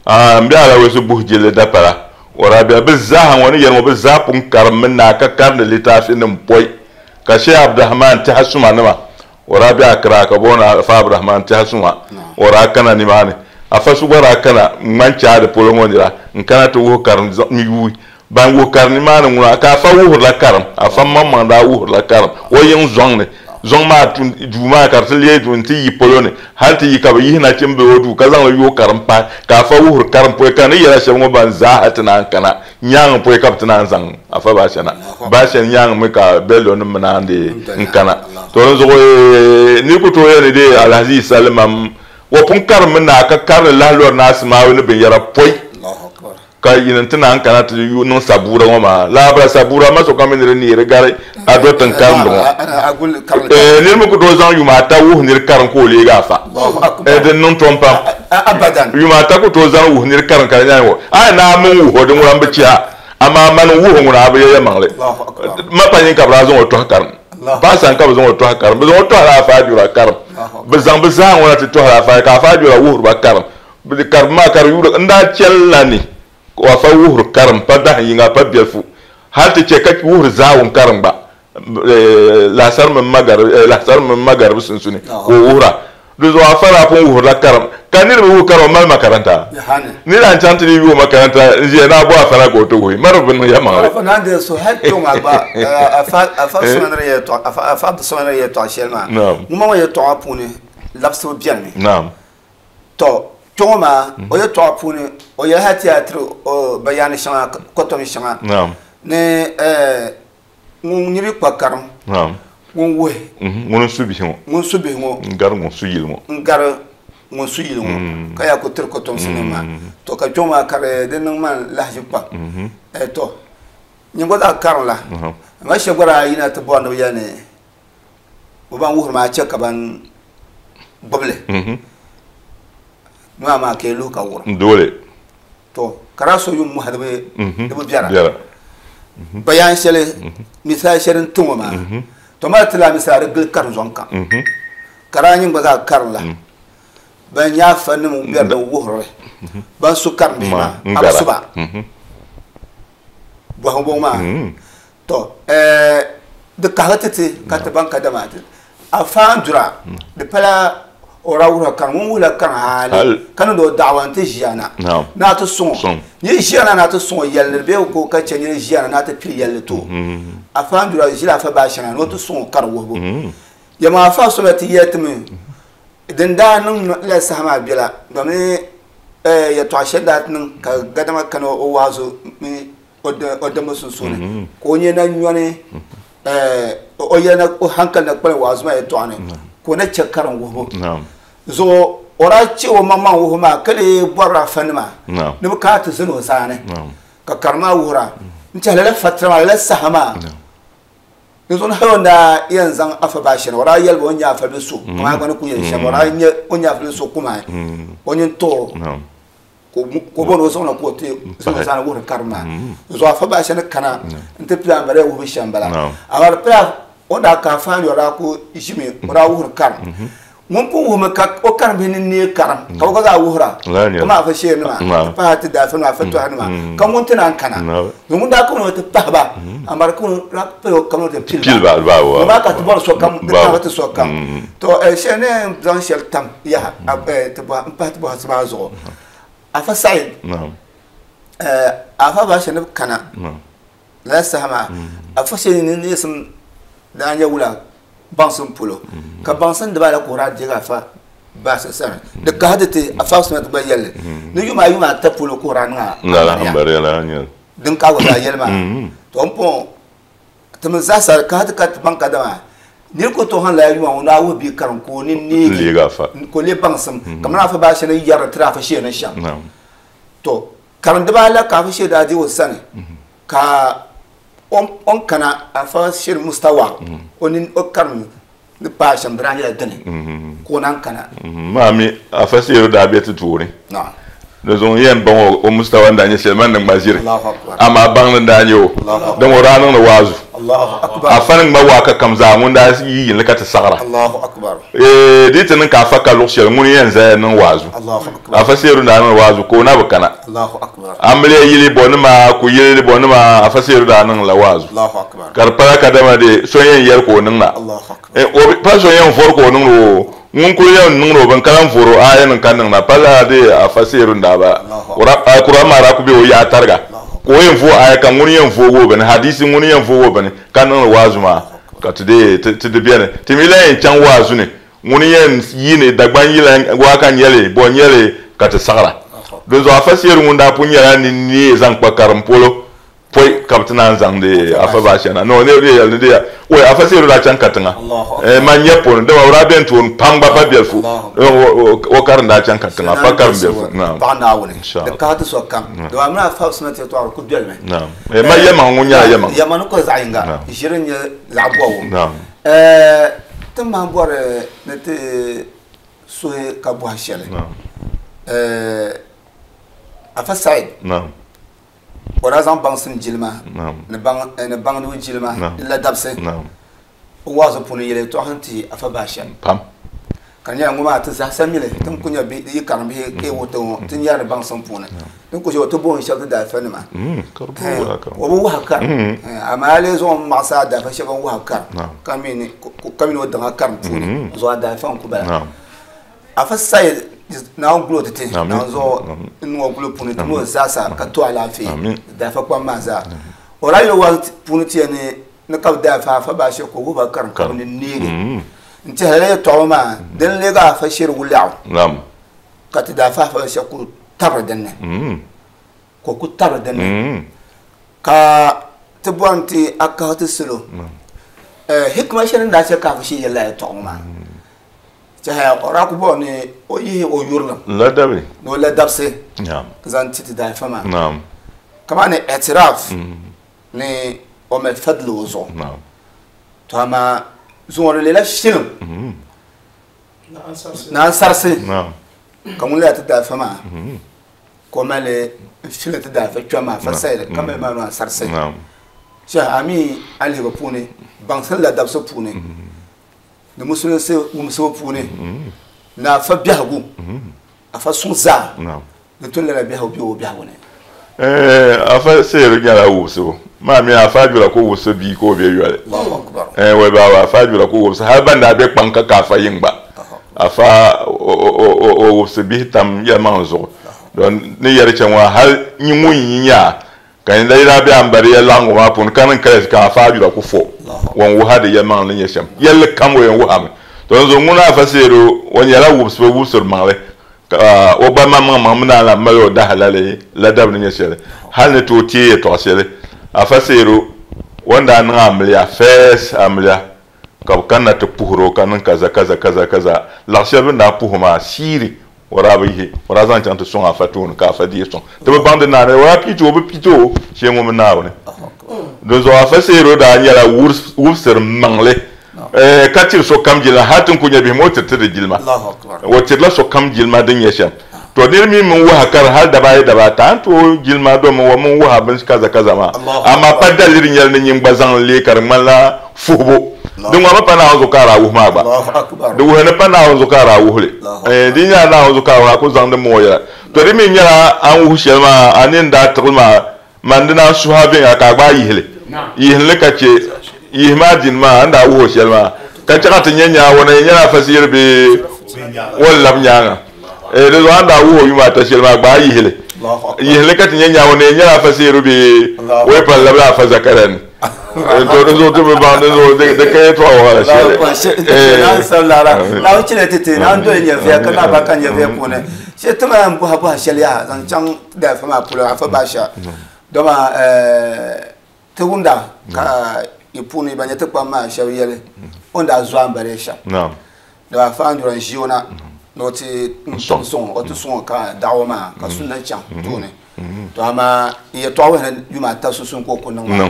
n be Alawesi buhi jilli dapala o daa bela bɛ zaaha ŋɔ ni yɛli ŋɔ bɛ zaa pun karim mi naa ka karindi litaafi nim pɔi ka Sheikh Abdurahman Tɛha suma nima o daa be Accra ka booni Afa Abdurahman Tɛha suma o daa kana nimaani afa so gba daa kana ŋmani chaadi polo ŋɔ nira n kana ti wuhi karim n yuui ban wuhi karim nimaani ŋuna ka afa wuhirila karim afa maŋmaŋ daa wuhirila karim o yiŋ zɔŋ ni zɔŋ maa duu maa ka di ti leei duu n ti yi polo ni hali ti yi ka bi yihi nachimbihi o duu ka zaŋli yooi karim pahi ka afa wuhiri karim pɔi ka ni yɛla shɛba ŋɔ ban zaaha ti naan kana nyaangi pɔi ka bi ti naan zaŋ afa baashana baashana nyaangi mi ka bello nim mi naan deei n kana to di zuɣu ni ku tooi yɛli ni dee Alhaji Isa Limam o pun karim mi naa ka karili lahi lɔri ni Asimawi ni binyɛra pɔi ka yini ti naan kana ti niŋ sabuura ŋɔ maa laabira sabuura ma sokam mi ni di neeri gari a do tiŋ karimdi ŋɔ niri mi ku tooi zaŋ yuma ata wuhi niri karim ka o leegi afa din niŋ tom pam yuma ata ku tooi zaŋ wuhi niri karim ka di nyaangi a naa min wuhi o din ŋuna n bi chiha amaa mani wuhi ŋuna a bi yɛ yɛlimaŋli ma pa nyin ka bi daa zaŋ o tɔhi karim paasa ka bi zaŋ o tɔhi karim bi zaŋ o tɔhila afa ajura karim bi zaŋ bi zaa ŋuna ti tɔhila afa ka afa ajura wuhiriba karim. Karim ma kar yura nda chellani wa fa wuhur karim pa da yinga pa belfu hal te che ka wuhur zawun karim ba la sar min magar la sar min magar sunsuni ko wuhura do zo afara pun wuhur la karam kanir bu karam mal makaranta ni ran chanti ni bu makaranta je na bu afara ko to goyi mar bin ya ma fa nan de so hal to ma ba afa afa sonare to afa afa sonare to shelma mu ma ye to apune lapso bien mi naam to choma o ye to apune o ye hati atro o bayani shanga kotom shanga naam ne ngiri kwa karam naam ngun we ngun subi ho ngun subi ho ngar ngun suyil mo ngar ngun suyil mo kaya ko tir ko tom sinema to ka choma kare den nang man lahji pa e to nyingo da karam la ma she gora ina to bondo yane o ban wuhur ma che ka ban boble ma ma ke lu ka wur dole to karaso yum mu hadbe de bu biara bayan shele misal sherin tungo ma to ma tila misal gil kar zonka karanyin ba za kar la ban ya fanni mu biyar da wuhur ban su kar bi ma absuba bo bo ma to de kahatati ka ta banka da ma afan dura de pala ora wura kan mun wula kan hali kan do da'wan ta jiyana na ta son ni jiyana na ta son yalle be ko ka ce ni jiyana na ta pil yalle to afan dura jila fa ba shana no ta son kar wo ya ma fa so ti yetmi din da nun la sama bila domin ya to ashe da nun ka gadama kan o wazo mi o da musun sone ko ne na nyone o yana o hankal na kwal wazo ma ya to ane ko na cekaran wo zo ora ce o mamma wo ma kale borra fanma ni ka ta zino zane ka karma wura in ta la fatra la sahama ni zo na wanda yan zan afa bashi ora yalbo nya afa bisu kuma ga ku yan shaba ora nya onya afa bisu kuma onyin to ko bono zo na ko te zo zane wura karma zo afa bashi na kana in ta plan bare wo bishambala awar plan onda ka fa yora ko jimi ora wuhur kar mun pun wuhur ka o kar bi ni ne karam ka ko za wuhura kuma fa she nima fa ta da fa na fa to hanuma kan mun tana kana mun da ko no ta fa ba amar ko ra pe o kan ta pil ba ba wa ba ka ta so kam ta ta so kam to she ne zan shel tam ya ta ba pa ta ba sa zo afa sa'id afa ba she ne kana la sahama afa she ne ne sun da anya wula bansun pulo ka bansun da ba la kora diga fa ba sa sa da ka hadate afa sun ta bayyale ni yuma yuma ta pulo kora na la ambare la anya din ka wala yelma to pon ta mun za sa ka hadka ta banka da ma ni ko to han la yuma wona wo bi karan ko ni ni liga fa ko le bansun kamar afa ba shi ne yara tra fa shi ne sha to karan da ba la ka fa shi da ji wasane ka on kana afa shir mustawa onin okarm ni pa shambrani la dane ko nan kana mami afa shir da be tuturi na de zon yen bon o mustawa da ni selman nan mazir Allahu akbar amma ban da ni o dan wora nan wazu Allahu akbar afa nan ma wa ka kamza mun da yi yin ka ta sagara Allahu akbar ditin ka fa ka luxel mun yen za nan wazu Allahu akbar afa shir da nan wazu ko na bukana Allahu akbar amle yili bonma ku yili bonma afa shir da nan la wazu Allahu akbar karpara kadama de soyen yer ko nan na Allahu akbar o pa soyen for ko nan ro mun ko yan nan ro ban kalan foro ayan kan nan na pala de afa shir da ba qur'an mara ku be o ya targa ko yen fo aya kan mun yen fo go ban hadisi mun yen fo go ban kan nan wazu ma ka tude tude bien timila yen chan wazu ne mun yen yine dagban yila wa kan yele bon yele ka ta sagara do zo afa shir mun da pun yara ni ni zan kwa karam polo poi kaptana zan de afa ba shana no ne ne ne de o afa shir da chan katanga ma nyepo de wa ra ben tun pangba pa belfu o karan da chan katanga pa karam belfu na ba na woni de ka ta so kam do amna fa usna te to ku bel me na ma yema ngunya yema yema no ko zainga jirin ya zabwo na tun ma bore ne te so ka bo hashele na afa said na ora zan bansin jilma ne bang ne bang no jilma illa dabse na wazo puni yele to hanti afa bashan pam Ka nyɛla ŋɔ maa ti zaɣisa mili tin ku nyɛ yi karim bihi ka yi wuhi ŋɔ ti nyɛri baŋsim puuni din ku shɛli ti booni shɛba ti daafa nima o bi wuhi karim amaa a lee zaŋ maɣasi a daafa shɛba n wuhi karim ka mi ni o daŋa karim puuni zuɣu a daafa n ku bala afa sayi Naawuni gulo ti ti Naawuni zuɣu n niŋ o gulo puuni ti mi o zaasa ka to alaafee daafa kpam maa zaa o daa yuli wazi puuni ti yɛn ni ka bi daafa afa baashɛ ka o wuhi ba karim ka bi ni neegi n tiɛhi lala yɛltɔɣa maa din leegi afa shiri wulɛɣu ka ti daa fahi fa shɛba ku tabiri dinni ka o ku tabiri dinni ka ti bɔri ni ti a kahi ti salo hikima shɛli din daa chɛ ka afa shiri yɛli lala yɛltɔɣa ŋɔ maa tiɛhaya o daa ku bɔri ni o yihi o yurilim ladabi ni o ladabisi zaŋ ti ti daafa maa kamani i'tiraf ni o mali fadli o zuɣu to amaa zuŋɔ di leela shilim ni ansarisi ka ŋun leela ti daafa maa ka o mali shili ti daafa kpɛm maa fa sayili ka mali maa ni ansarisi shɛhi a mi a lihibu puuni baŋsim la dabisi puuni ni musulinsi wumsibu puuni ni afa biɛhigu afa suŋ zaa di tun lala biɛhigu bɛ o biɛhigu ni. Afa seeri nyɛla wubisibu maa mi afa ajura ka o wubisi bia ka o bɛ yoli wai baaba afa ajura ka o wubisi hali ban daa bɛ kpaŋ ka ka afa yiŋ gba afa o wubisi bihi tam yɛlimaŋli zuɣu don ni yɛri chɛ ŋɔ hali nyi ŋun yi nya ka ni daa bɛ ambari ya laɣingu maa puuni ka niŋ kaya ka afa ajura ku fo wan wuha di yɛlimaŋli ni nyɛ shɛm yɛlli kam o yɛn wuhami to n zuɣu ŋuna afa seeri o nyɛla wubisibu wubisiri maŋli ka o gba maŋmaŋ mi naan lahi mali o dahalali ladabi ni nyɛ shɛli hali ni tooi teei yɛltɔɣa shɛli afa seero o ni daa niŋ amiliya first amiliya ka bɛ kanna ti puhiri o ka niŋ kaza kaza kaza kaza laɣ shɛli bɛ ni daa puhi o maa siiri o daa bi yihi o daa zaŋ chaŋ ti sɔŋ afa tooni ka afa deei sɔŋ ti bi baŋ di naani o daa piiti o bi piiti o shee ŋɔ mi Naawuni dinzuɣu afa seero daa nyɛla wubisiri maŋli ka tiri sokam jilima hal ti ni ku nya bihi maa o tiri ti di jilima o tirila sokam jilima din nyɛ shɛm to nir mi min wuha kari hal daba ayi daba ata a ni tooi jilima domi o min wuha bin kaza kaza maa amaa pa daliri nyɛli ni nyin gba zaŋ li leei ka di ŋmanila fuhibu din ŋɔ mi pa Naawuni zuɣu ka a daa wuhi maa gba di wuhi ni pa Naawuni zuɣu ka a daa wuhi li di nyɛla Naawuni zuɣu ka a ku zaŋdi mi o yɛla to di mi nyɛla a ni wuhi shɛli maa a nini daa tiɣili maa Man di naan suhi a viɛnyɛla ka a gbaai yihi li. Yihim li ka chɛ yihi maa dini maa a ni daa wuhi o shɛli maa, ka chɛ ka ti nya nyaa o na yɛn nyɛla afa ziyiri bee o ni lab nyaaŋa. Ee, di zuɣu a ni daa wuhi o yuma ata shɛli maa, gbaai yihi li. Yihim li ka ti nya nyaa o na yɛn nyɛla afa ziyiri bee o yi pa n-labila afa Zakaria ni. To di zuɣu ti bi baŋ di zuɣu di ka yɛtɔɣa waɣila shɛli. Naawuni chɛliya ti ti naan doli nyɛviya ka naai ba ka nyɛviya puuni. Shee ti maa yɛn bɔhi bɔhi shɛli yaha zaŋ chaŋ daafa maa polo afa baasha dama ti wumda ka yi puuni ban nyɛ ti kpam maa shɛba yɛli o ni daa zo ambaliya shɛm dama afa Andura n ʒi o na ni o ti sɔŋ o ti sɔŋ o ka daɣu maa ka sunna chaŋ tooni to amaa n yɛltɔɣa wuhi ni yuma ata sunsuuni ka o ku niŋ maa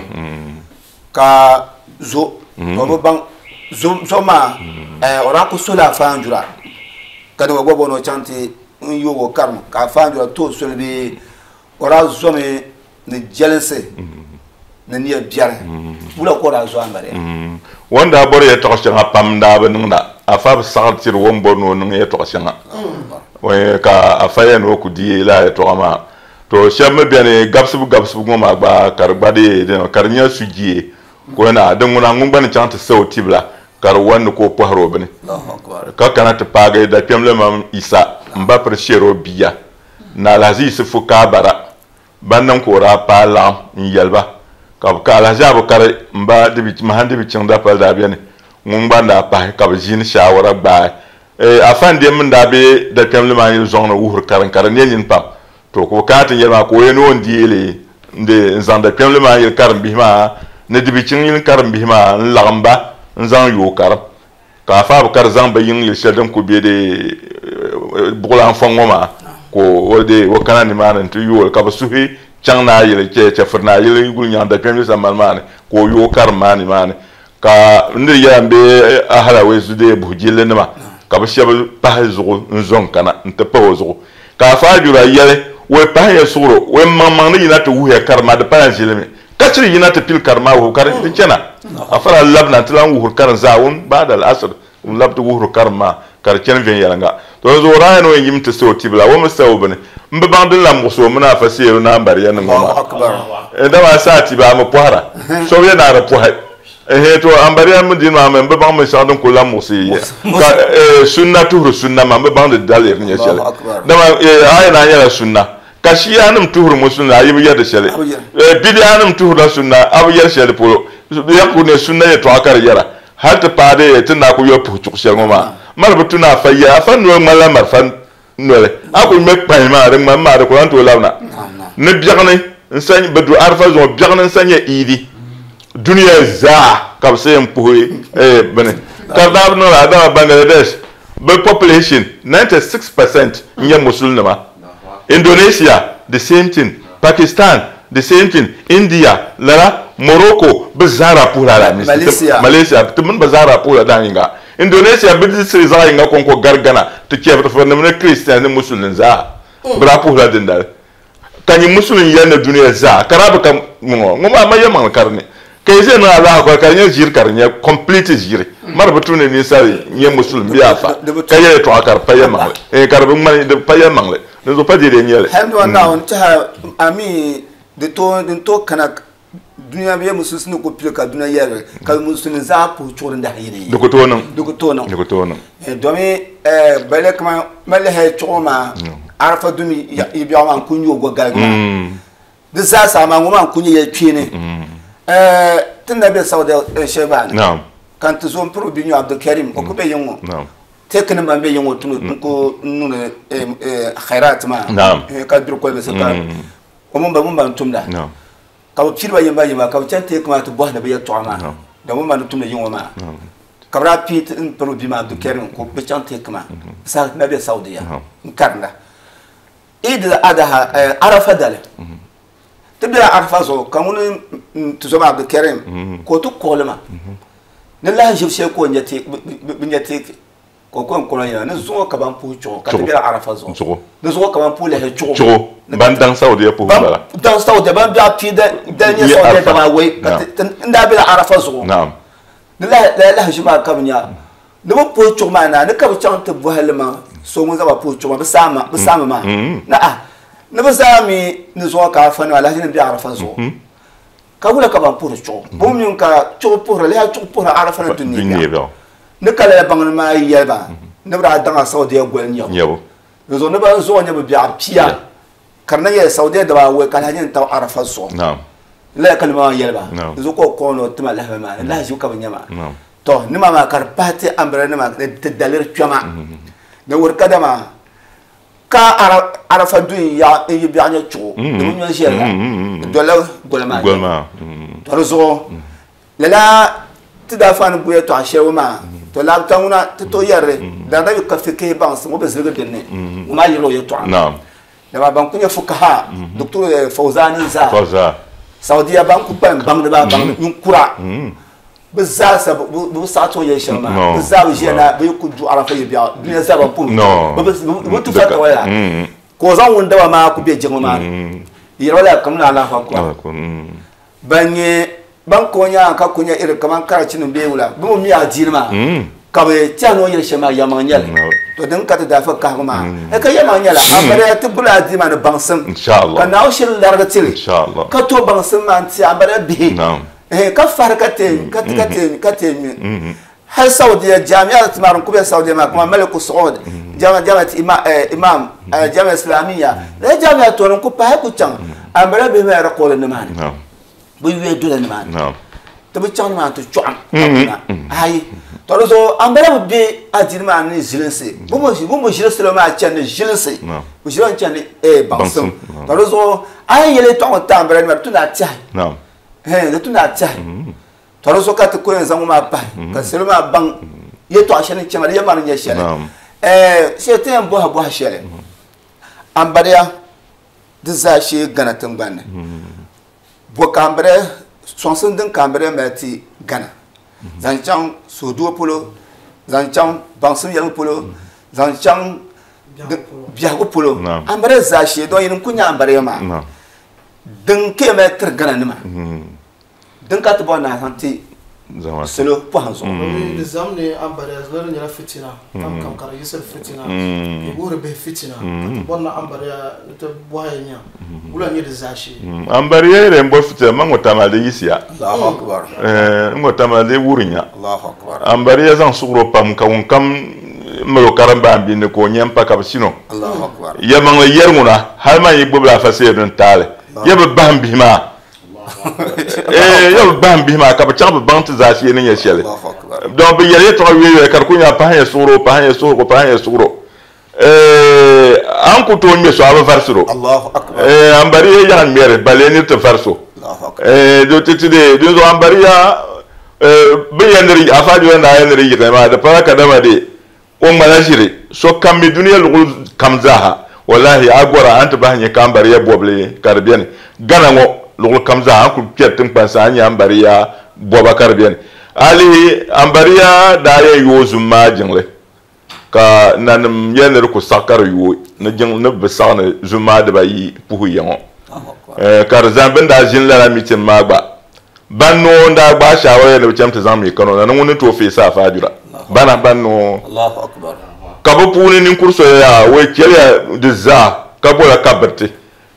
ka zo o bi baŋ zo maa o daa ku sola afa Andura ka dama gba bɔni o chaŋ ti n yoog o karim ka afa Andura tooi soli bee o daa zomi ni jɛlinsi ni nia biɛri wula ka o daa zo ambaliya o ni daa bɔri yɛltɔɣa shɛŋa pam daa bi niŋda afa bi saɣiri tiri o ni bɔri ni o niŋ yɛltɔɣa shɛŋa ka afa yɛn ni o ku deei lala yɛltɔɣa maa to shɛba mi beni gabisibu gabisibu ŋɔ maa gba ka di gba dee ka di nyɛ sujee ka o na din ŋuna ŋun gba ni chaŋ ti sa o tibila ka di wani ni ka o pɔhiri o bini ka kana ti paagi dakpɛmli mam Isa m-ba piri shɛri o bia ni Alhaji Yisifu Kaabara ban niŋ ka o daa paai laɣim n-yɛli ba ka bɛ ka Alhaji Abukari m-ba Mahan Dibichiŋ dapali daa beni ŋun gba n-daa pahi ka bɛ ʒiini shaawara gbaai Afa Ndem min daa be dakpɛmli maa yili zɔŋ ni wuhiri karim ka di ne nini pam to ka o kana ti yɛli maa ka o yɛn ni o ni deei li n-zaŋ dakpɛmli maa yili karimbihi maa ni Dibichiŋ yili karimbihi maa n-laɣim ba n-zaŋ yooi karim ka Afa Abukari zaŋ ba yiŋ yili shɛli din kuli be di buɣulanfɔŋ ŋɔ maa ka o deei o kana nimaani nti yooi li ka bɛ suhi chaŋ naa yili chɛfiri naa yili Gulinyaŋ dakpɛmli sambani maa ni ka o yooi karim maa nimaani Ka n ni yɛla m be Ahalawee Zudeya buhijilli nima, ka bɛ shɛba pahi zuɣu n-zo n-kana nti pahi o zuɣu. Ka Afa Ajura yɛli, Wei pahiya suɣiro, wei maŋmaŋ ni yina ti wuhiya karimma, di pala ʒilimi. Ka chiri yina ti pili karimma wuhibu ka di chana. Afa daa labina nti lan wuhiri karim zaawuni ba'da al-asr, n-labi ti wuhiri karimma. Ka di chani viɛnyɛliŋga. To di zuɣu daa yɛn o yɛn yim ti sa o tibila, o mi sa o bini. M bi baŋ din lan muɣisi o mini afa Seeru ni ambariya nim ŋɔ maa. Dama a sa a tiba a mi pɔhira. So bi yɛn naai di pɔhi. Ɛhɛn to ambariya mi dini maa mi m bi baŋ binshɛɣu din kuli lan muɣisi yi ka sunna tuhiri sunna maa m bi baŋ di daliri ni nyɛ shɛli. Dama a yɛn naai nyɛla sunna ka Shia nim tuhiri musulimi a yi bi yɛri di shɛli. Bidia nim tuhirila sunna a bi yɛri shɛli polo. Bɛ yɛn kuli ne sunna yɛltɔɣa ka di yɛra. Hal ti paai di ti na ku yoli puhi chuɣu shɛli ŋɔ maa, mali bi tu ni afa ya, afa noli ŋmanila marafa noli. A ku ŋme kpahi maa, di ŋmani maa, di ku lan tooi labina. Ni biɛɣuni n-sa bɛ du Arafa zuŋɔ, biɛɣuni n-sa nyɛ Iidi. Dunia zaa ka bɛ sa yɛn puhi bini. Ka di daa bi niŋ lala, dama Bangladesh bɛ population 96% n-nyɛ Musulinima. Indonesia the same thing, Pakistan the same thing, India lala, Morocco bɛ zaa daa puhila Alaamisi. Malaysia. Malaysia ti mini bɛ zaa daa puhila daa yinga. Indonesia bɛ district zaɣ yinga kɔŋko gari Ghana ti chɛfirinim ni Christians ni Musulin zaa bɛ daa puhila dindali. Ka nyɛ Musulin yɛli ni dunia zaa ka daa bi ka ŋɔ ŋɔ maa ma yɛlimaŋli ka di ni. Ka yi ʒe niŋ alaha kɔli ka di nyɛ ʒiri ka di nyɛ complete ʒiri. Mari bi tu ni ninsal nyɛ Musulin bee afa ka yɛli yɛltɔɣa ka di pa yɛlimaŋli. Eeh ka di bi ŋmani di pa yɛlimaŋli. Dinzuɣu pa deedee n-nyɛ li. Hali ni Naawuni tɛha a mi di tooi din tooi kana dunia bee musulinsi ni ku pili ka dunia yɛligi ka musulin zaa puhi chuɣu din dahi yini. Di ku tooi niŋ. Di ku tooi niŋ. Di ku tooi niŋ. Domi bale kaman mali hali chuɣu maa Arafa dumi yi biɛɣu maa n-ku nyɛ o gɔgaligi maa. Di zaa saha maa ŋɔ maa n-ku nyɛ yɛl kpeeni. Ti ni daa be Saudi shɛli maa ni ka n ti zo m-piri o bia nyɛ Abdulkarim o ku be yiŋ ŋɔ. Teekinim ban be yiŋ ŋɔ tuni n-ku niŋdi khairat maa ka duri kolibisi ka o mini ba mini ban tumda ka bɛ piiri ba yimba yimba ka bɛ chani teeku maa ti bɔhindi bɛ yɛltɔɣa maa dama bɛ mini ba ni tumdi yiŋ ŋɔ maa ka bɛ daa pii m-piri o bia maa Abdulkarim ka bɛ chaŋ teeku maa saha ti daa be Saudiya n-karinda. Eid al-Adha Arafa dali ti bela Arafa zuɣu ka ŋuni n-ti zo maa Abdulkarim ka o ti kuɣili ma ni lahi ʒibu shɛli ka o nya bɛ nya teeki ka o ko n kɔŋ yɛla ni zuŋɔ ka ban puhi chuɣu ka ti bela Arafa zuɣu ni zuŋɔ ka ban puhi lahi chuɣu chuɣu ban daŋ Saudiya puhi bala daŋ Saudiya ban biɛɣu pii dali nyɛ Saudiya daba awɔi ka n daa bela Arafa zuɣu ni lahi ʒi maa ka bɛ nya Ni bɛ puhi chuɣu maa naai, ni ka bɛ chaŋ ti bɔhi li maa so ŋun zaŋ ba puhi chuɣu maa, bɛ saami maa ni a ni bɛ zaa mi ni zuɣu ka Arafa nima alahichi ni be Arafa zuɣu, ka wula ka ban puhiri chuɣu? Bɛ mi mi ka chuɣu puhiri, lihi chuɣu puhiri Arafa ni dunia biɛɣu. Ni ka lala baŋnim maa yɛli ba ni bɛ daa daŋ a Saudiya goli nyabu. Di zuɣu ni ban zuɣu nyɛ bɛ biɛɣu pia ka di na nyɛla Saudiya daba awɔi ka alahichi ni tabi Arafa zuɣu. Lala ka nima maa yɛli ba. Di zuɣu ka o kɔŋ ni o tima lahabali maa ni lahiʒibu ka bɛ nya maa. Tɔ, nima maa ka di pahi ti ambirɛla nima ni ti daliri kpɛma ni wuhi kadama ka Arafa du n-yaɣi n-yi biɛɣu nyɛ chuɣu di bi nyo ʒiɛli la, di dolila goli maa nyɛbu. Tɔ, di zuɣu lala ti daa faani gu yɛtɔɣa shɛli ŋɔ maa, tɔ laabita ŋuna ti tooi yɛri li, dama yi ka fikihi baŋsim o bi ziligi din ni, ŋɔ maa yirila o yɛtɔɣa. Dama ban ku nyɛ fukaha, Doctor Fawzani zaa, Saudiya ban ku kpalim baŋdiba, baŋdi ninkura. Bɛ zaa sa bɛ bi saɣi ti o yɛli shɛli maa. Bɛ zaa bi ʒiya na bɛ yi ku du Arafa yi biɛɣu dunia zaa ban puhi bɛ bi ti fatawa la ka o zaŋ ŋun daba maa ku be jiŋli maa ni yɛri ba la kamina Allahu Akbar. Ban nyɛ ban ka o nyaaŋa ka ku nyɛ iri kaman karachinim bee wula bɛ mi mi adiini maa ka bɛ tɛhi ni o yɛli shɛli maa yɛlimaŋ nyɛli. To din ka ti daa fa kahigu maa ka yɛlimaŋ nyɛla a bariya ti guli adiini maa ni baŋsim ka Naawuni shiri larigi ti li ka tooi baŋsim maa n-ti a bariya bihi. Ka fahiri ka te ka te ka te ka te mi hali Saudiya jamiya ti maa din ku be Saudiya maa kaman Maliku Saud jamiya jamiya ima imam jamiya Islamiyya lala jamiya to din ku pahi ku chaŋ ambala bihi maa record ni maa ni bi yuya dola ni maa ni ti bi chaŋ ni maa ti chɔɣim ka kuna ayi to di zuɣu ambala bi be adiini maa ni ʒilinsi bi mi ʒili salo maa chani ni ʒilinsi bi ʒila n-chani baŋsim to di zuɣu a yi yɛli yɛltɔɣa ŋɔ ti ambala nima di tu ni a tɛhi Di tu ni a tɛhi tɔ di zuɣu ka ti ku yɛn zaŋ ŋɔ maa pahi ka salo maa baŋ yɛltɔɣa shɛli ni chɛma di yɛn maa ni nyɛ shɛli. Shee ti yɛn bɔhi bɔhi shɛli ambariya di zaa shee Ghana tiŋgbani ni. Bɔ ka ambariya sɔŋsim din ka ambariya mali ti Ghana zaŋ chaŋ suhuduo polo, zaŋ chaŋ baŋsim yɛligu polo, zaŋ chaŋ biɛhigu polo. Ambariya zaa shee dɔn yini n-ku nyɛ ambariya maa. Din ka yɛn mali tiri Ghana nima, din ka ti bɔri ni a zaŋ ti Salo pɔhim zuɣu. Di zam ni ambariya ziliri nyɛla fitina kam kam ka di yiɣisiri fitina di wuhiri bihi fitina ka ti bɔri ni ambariya ni ti bɔhi nya wula nyɛ di zaashee. Ambariya yɛrɛ n bɔ fitina ma ŋɔ tamali di yiɣisiya. Allahu akbar. N ŋɔ tamali di wuri nya. Allahu akbar. Ambariya zaŋ suɣuro pam ka ŋun kam mali o karimba n binni ka o nyɛ n pa ka bi sino. Allahu akbar. Yɛlimaŋli yɛri ŋuna hali maa yi gbubila afa seeri din taali yɛ bi bahim bihi maa. Yɛ bi bahim bihi maa ka bi chaŋ bi baŋ ti zaashee ni nyɛ shɛli. Don bi yɛli yɛltɔɣa yoya ka di ku nyɛ pahi nyɛ suɣuro pahi nyɛ suɣuro pahi nyɛ suɣuro. An ku tooi ŋmɛ so a bi varisiro. Ambariya yaɣa ŋmɛri balee niri ti variso. Dinzuɣu ambariya bi yɛn niri afa jɔla naa yɛn niri yiɣi maa di pala kadama de o ŋmala ʒiri so kam mi duniya luɣuli kam zaaha wallahi a gɔra an ti bahi nyɛ ka ambariya bɔbili ka di beni Gana ŋɔ luɣuli kam zaaha an kuli kpɛri tiŋkpansi a nyɛ ambariya bɔba ka di beni a lihi ambariya daa yɛn yooi zum maa jiŋli ka nanim yɛli ni di ku saɣi ka di yooi ni jiŋ ni bi saɣi ni zum maa dibayi puhi ya ŋɔ ka di zani bini daa ʒini lala mitin maa gba ban noo n daa gbaai shaawara yɛli ni bi cham ti zaŋ mi Kano na ni ŋun ni tooi feesi afaajura bana ban noo ka bi puuni ninkuri so yaa wei chɛliya di zaa ka bola ka biriti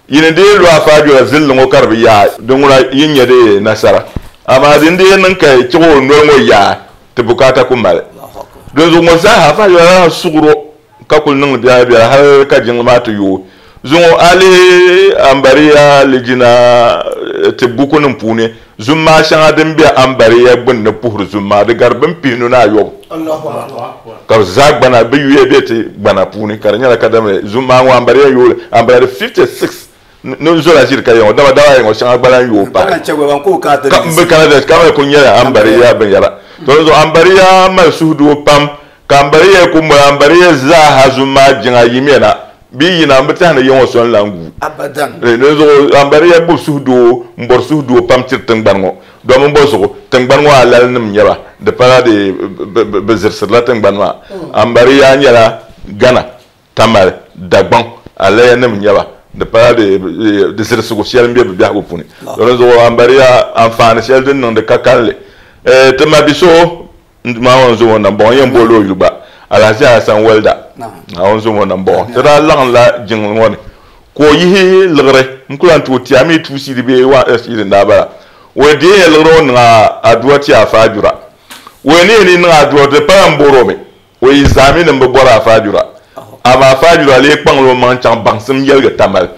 yini dee lu afaajura zilli ŋɔ ka di bi yaai di ŋuna yi nyɛ di nasara amaa din dee niŋ ka chiɣi o noli ŋɔ yaai ti bukaata ku mali dinzuɣu ŋɔ zaaha afaajura laa suɣuro ka kuli niŋdi biɛla biɛla hali ka jiŋli maa ti yooi zuŋɔ a lihi ambariya lijina ti bukunim puuni zum maa shɛŋa din be ambariya gbunni puhiri zum maa di gari bin pihinu ni ayɔbu ka bi zaa gbana bi yuya be ti gbana puuni ka di nyɛla kadama zum maa ŋɔ ambariya yooli ambariya di 56 ni zola ʒiri ka yɛŋɔ dama daba yɛŋɔ shɛŋa gba lan yooi pahi ka bi kana da ka ku nyɛla ambariya binyɛra to zuɣu ambariya mali suhudoo pam ka ambariya ku moli ambariya zaaha zum maa jiŋa yimiya na bi yina n bi tɛhi ni yɛŋɔ so n lan gu dinzuɣu ambariya gbubi suhudoo n bɔri suhudoo pam tiri tingbani ŋɔ domin bɔ zuɣu tingbani ŋɔ alalinim nyɛba di pala di bi zirisirila tingbani maa ambariya nyɛla Ghana Tamale Dagbaŋ alayanim nyɛba di pala di zirisigu shɛli n be bi biɛhigu puuni dinzuɣu ambariya anfaani shɛli din niŋdi ka kalinli ti ma bi so maa ŋɔ n zo ŋɔ nambɔɣu n yɛn booli o yuli gba Alhaji Hassan Walda ŋɔ n zo ŋɔ nambɔɣu ti daa laɣimla jiŋli ŋɔ ni ka o yihi liɣiri n ku lan tooi ti a mi 2 cedi bee 1 cedi n daa bala o deei liɣiri ŋɔ niŋ aduwa ti afaajura o ni yɛn niŋ aduwa di pala n boori o mi o yi zaami ni bi bɔri afaajura amaa afaajura lee kpaŋla o maŋ chaŋ baŋsim yɛligi Tamale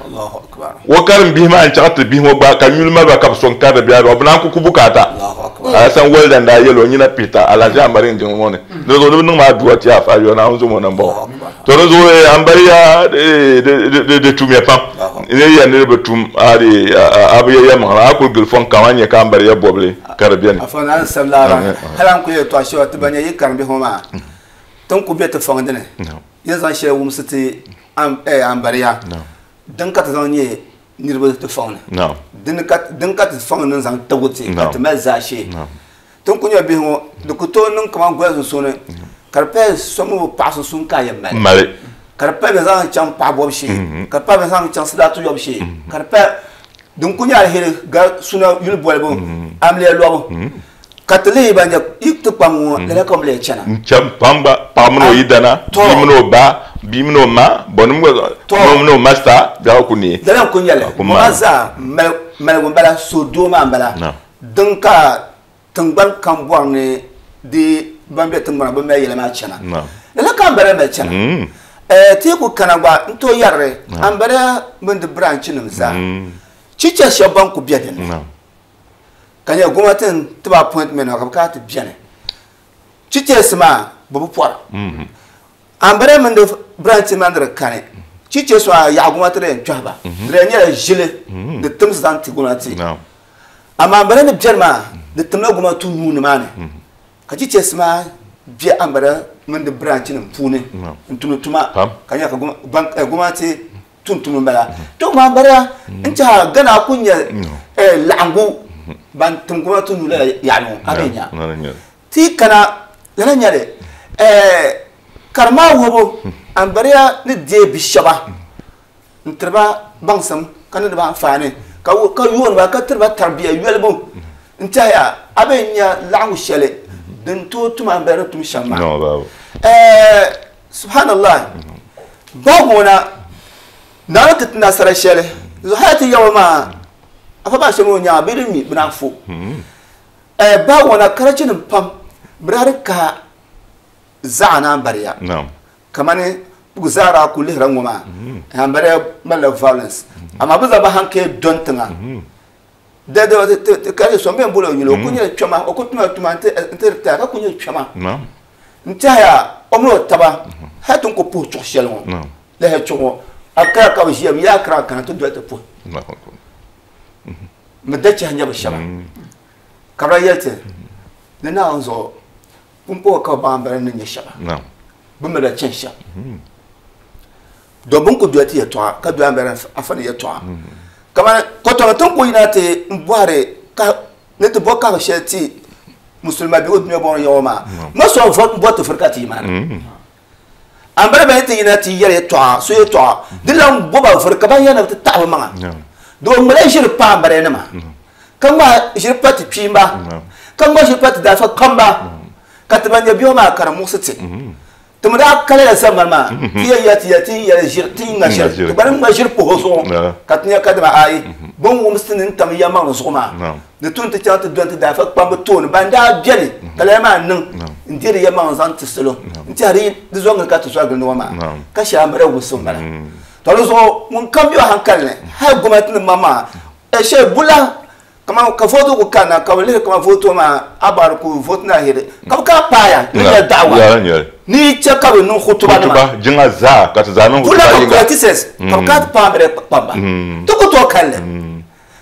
o karim bihi maa n chaŋ ti bihi ŋɔ gba ka nyuli maliba ka bi so n karili biɛla bi naan ku ku bukaata Alasan Walda n daa yɛli o nyina pihita Alhaji Ambari n jiŋli ŋɔ ni di zuɣu ni bi niŋ maa aduwa ti afaajura Naawuni zo ŋɔ nambɔɣu to di zuɣu Ambariya di tumya pam ni yɛn ni bi tum a bi yɛ yɛlimaŋli a kuli gili fɔŋ kam a nyɛ ka Ambariya bɔbili ka di beni. Afa naan sabila hali an ku yɛli tɔɣa shɛba ti ba nyɛ yi karim bihi ŋɔ maa tin ku be ti fɔŋ dini yɛn zaŋ shɛli wumsi ti ambariya din ka ti zaŋ nyɛ niriba ti fɔŋ ni din ka ti fɔŋ ni zaŋ tagu ti ka ti mali zaashee tin ku nyɛ bihi ŋɔ di ku tooi niŋ kaman goli sunsuuni ka di pahi so mini o paɣa sunsuuni ka a yɛn mali ka di pahi bɛ zaŋ chaŋ paɣa bɔbu shee ka di pahi bɛ zaŋ chaŋ sidaatu yɔbu shee ka di pahi din ku nyɛ alheri gari suna yuli bolibu amiliya lɔbu ka ti lihi ban nyɛ yi ti kpam ŋɔ lala ka bɛ lee chana n cham pam gba paɣa mini o yidana bia mini o ba bia mini o ma bɔnim gba mini o masta biɛɣu ku neei lala n ku nyɛli ŋɔ maa zaa maligu n bala so doo maa n bala din ka tingbani kam bɔri ni di ban be tingbana bi mali yɛla maa chana lala ka ambariya mali chana teeku kana gba n tooi yɛrili ambariya mini di branch nim zaa chicha shɛba ban ku be dinni ka nyɛ gomnati n tiba appointment ka bi kana ti beni chichɛsi maa bi bi pɔra ambariya mini di branch maa ni di kani chichɛsi maa yaɣa gomnati di yɛn kpɛhi ba di yɛn nyɛla ʒili di timsi zaŋ ti gomnati amaa ambariya ni beni maa di timla gomnati nuu ni maa ni ka chichɛsi maa be ambariya mini di branch nim puuni n tumdi tuma ka nyɛ ka gomnati tum tum n bala to maa ambariya n tiɛha Ghana ku nyɛ laɣingu ban tim gomnati nuu lala yaɣali ŋɔ a bɛ nya ti kana lala nyɛli karima wuhibu ambariya ni deei bi shɛba n tiriba baŋsim ka niŋdi ba anfaani ka yooni ba ka tiriba tarbiya yolibu N tɛhiya a bɛ nya laɣingu shɛli din tooi tum ambariya ni tum shɛm maa. Subhanallah. Bahigu ŋɔ na, Naawuni ti ti nasara shɛli zuɣu hali ti Yawɛ maa afa maa shɛm o nyaŋa bɛ di mi bɛ naan fo. Bahigu ŋɔ na karachinim pam bɛ daa di kahi zaɣa ni ambariya. Kamani kpugi zaara ku lihira ŋɔ maa ambariya malila violence amaa bɛ zaa bi hankali dɔni tiŋa. Da ka so bɛn boli o yuli o ku nyɛla kpɛma o ku tuma tuma n ti retire ka ku nyɛ kpɛma n tɛhiya o mini o taba hali ti ni ku puhi chuɣu shɛli ŋɔ lahi chuɣu ŋɔ Accra ka bi ʒiya bi yi Accra kana ti doli ti puhi mi da chɛhi nyɛ bi shɛba ka bi yɛli ti ni Naawuni zuɣu pumpɔŋɔ ka bi baŋ bala ni nyɛ shɛba bi mi la chɛni shɛm Don bɛ ni ku doli ti yɛtɔɣa ka doli Ambariya afa ni yɛtɔɣa. Kamani kɔtɔmi ti ni ku yina ti m-bɔhiri ni ti bo kahigu shɛli ti musulima bee o dunia bɔŋɔ yaɣa maa, ŋɔ so m-bɔri ti vuri ka ti yi maa ni. Ambariya bɛ ni ti yina ti yɛli yɛtɔɣa, so yɛtɔɣa, di lan bo ba vuri ka ban yɛli ni bɛ ti taɣi bɛ maŋa. Di o ŋmala ʒiri pa Ambariyanima, ka ŋmahi ʒiri pa ti kpiimba, ka ŋmahi ʒiri pa ti daafa kpamba, ka ti ban nyɛ biɛhigu maa ka di muɣisi ti. Ti mi daa kalila zamani maa, ti yɛn yɛli ti yɛli ti yɛli ʒiri, ti ŋma ʒiri, ti gba ni ŋma ʒiri puhi o zuɣu, ka ti nya kadama ayi, bɛ ni wumsi ti ni tam yɛlimaŋli zuɣu maa, di tu ni ti chaŋ ti dɔni ti daafa kpambi tooni ban daa beni ka lala maa niŋ n-deeri yɛlimaŋli zaŋ ti salo n-tɛhi di yi di zɔŋ gili ka ti zɔri gindi ŋɔ maa, ka shɛli a mali wumsi m-bala. Tɔ di zuɣu ŋunkam be o hankali ni, hali gomnantinima maŋmaŋa, shɛli bula Kaman ka voto ku kanna ka bɛ lihi kaman voto maa a baari ku vote na hiri ka bɛ kana paaya ni nyɛ da'awa ni yi chɛ ka bɛ niŋ hutuba nima. Hutuba jiŋa zaa ka ti zaa niŋ hutuba yiŋa. Bula ka politicians ka bɛ kana ti paai bɛ kpamba ti ku tooi kalli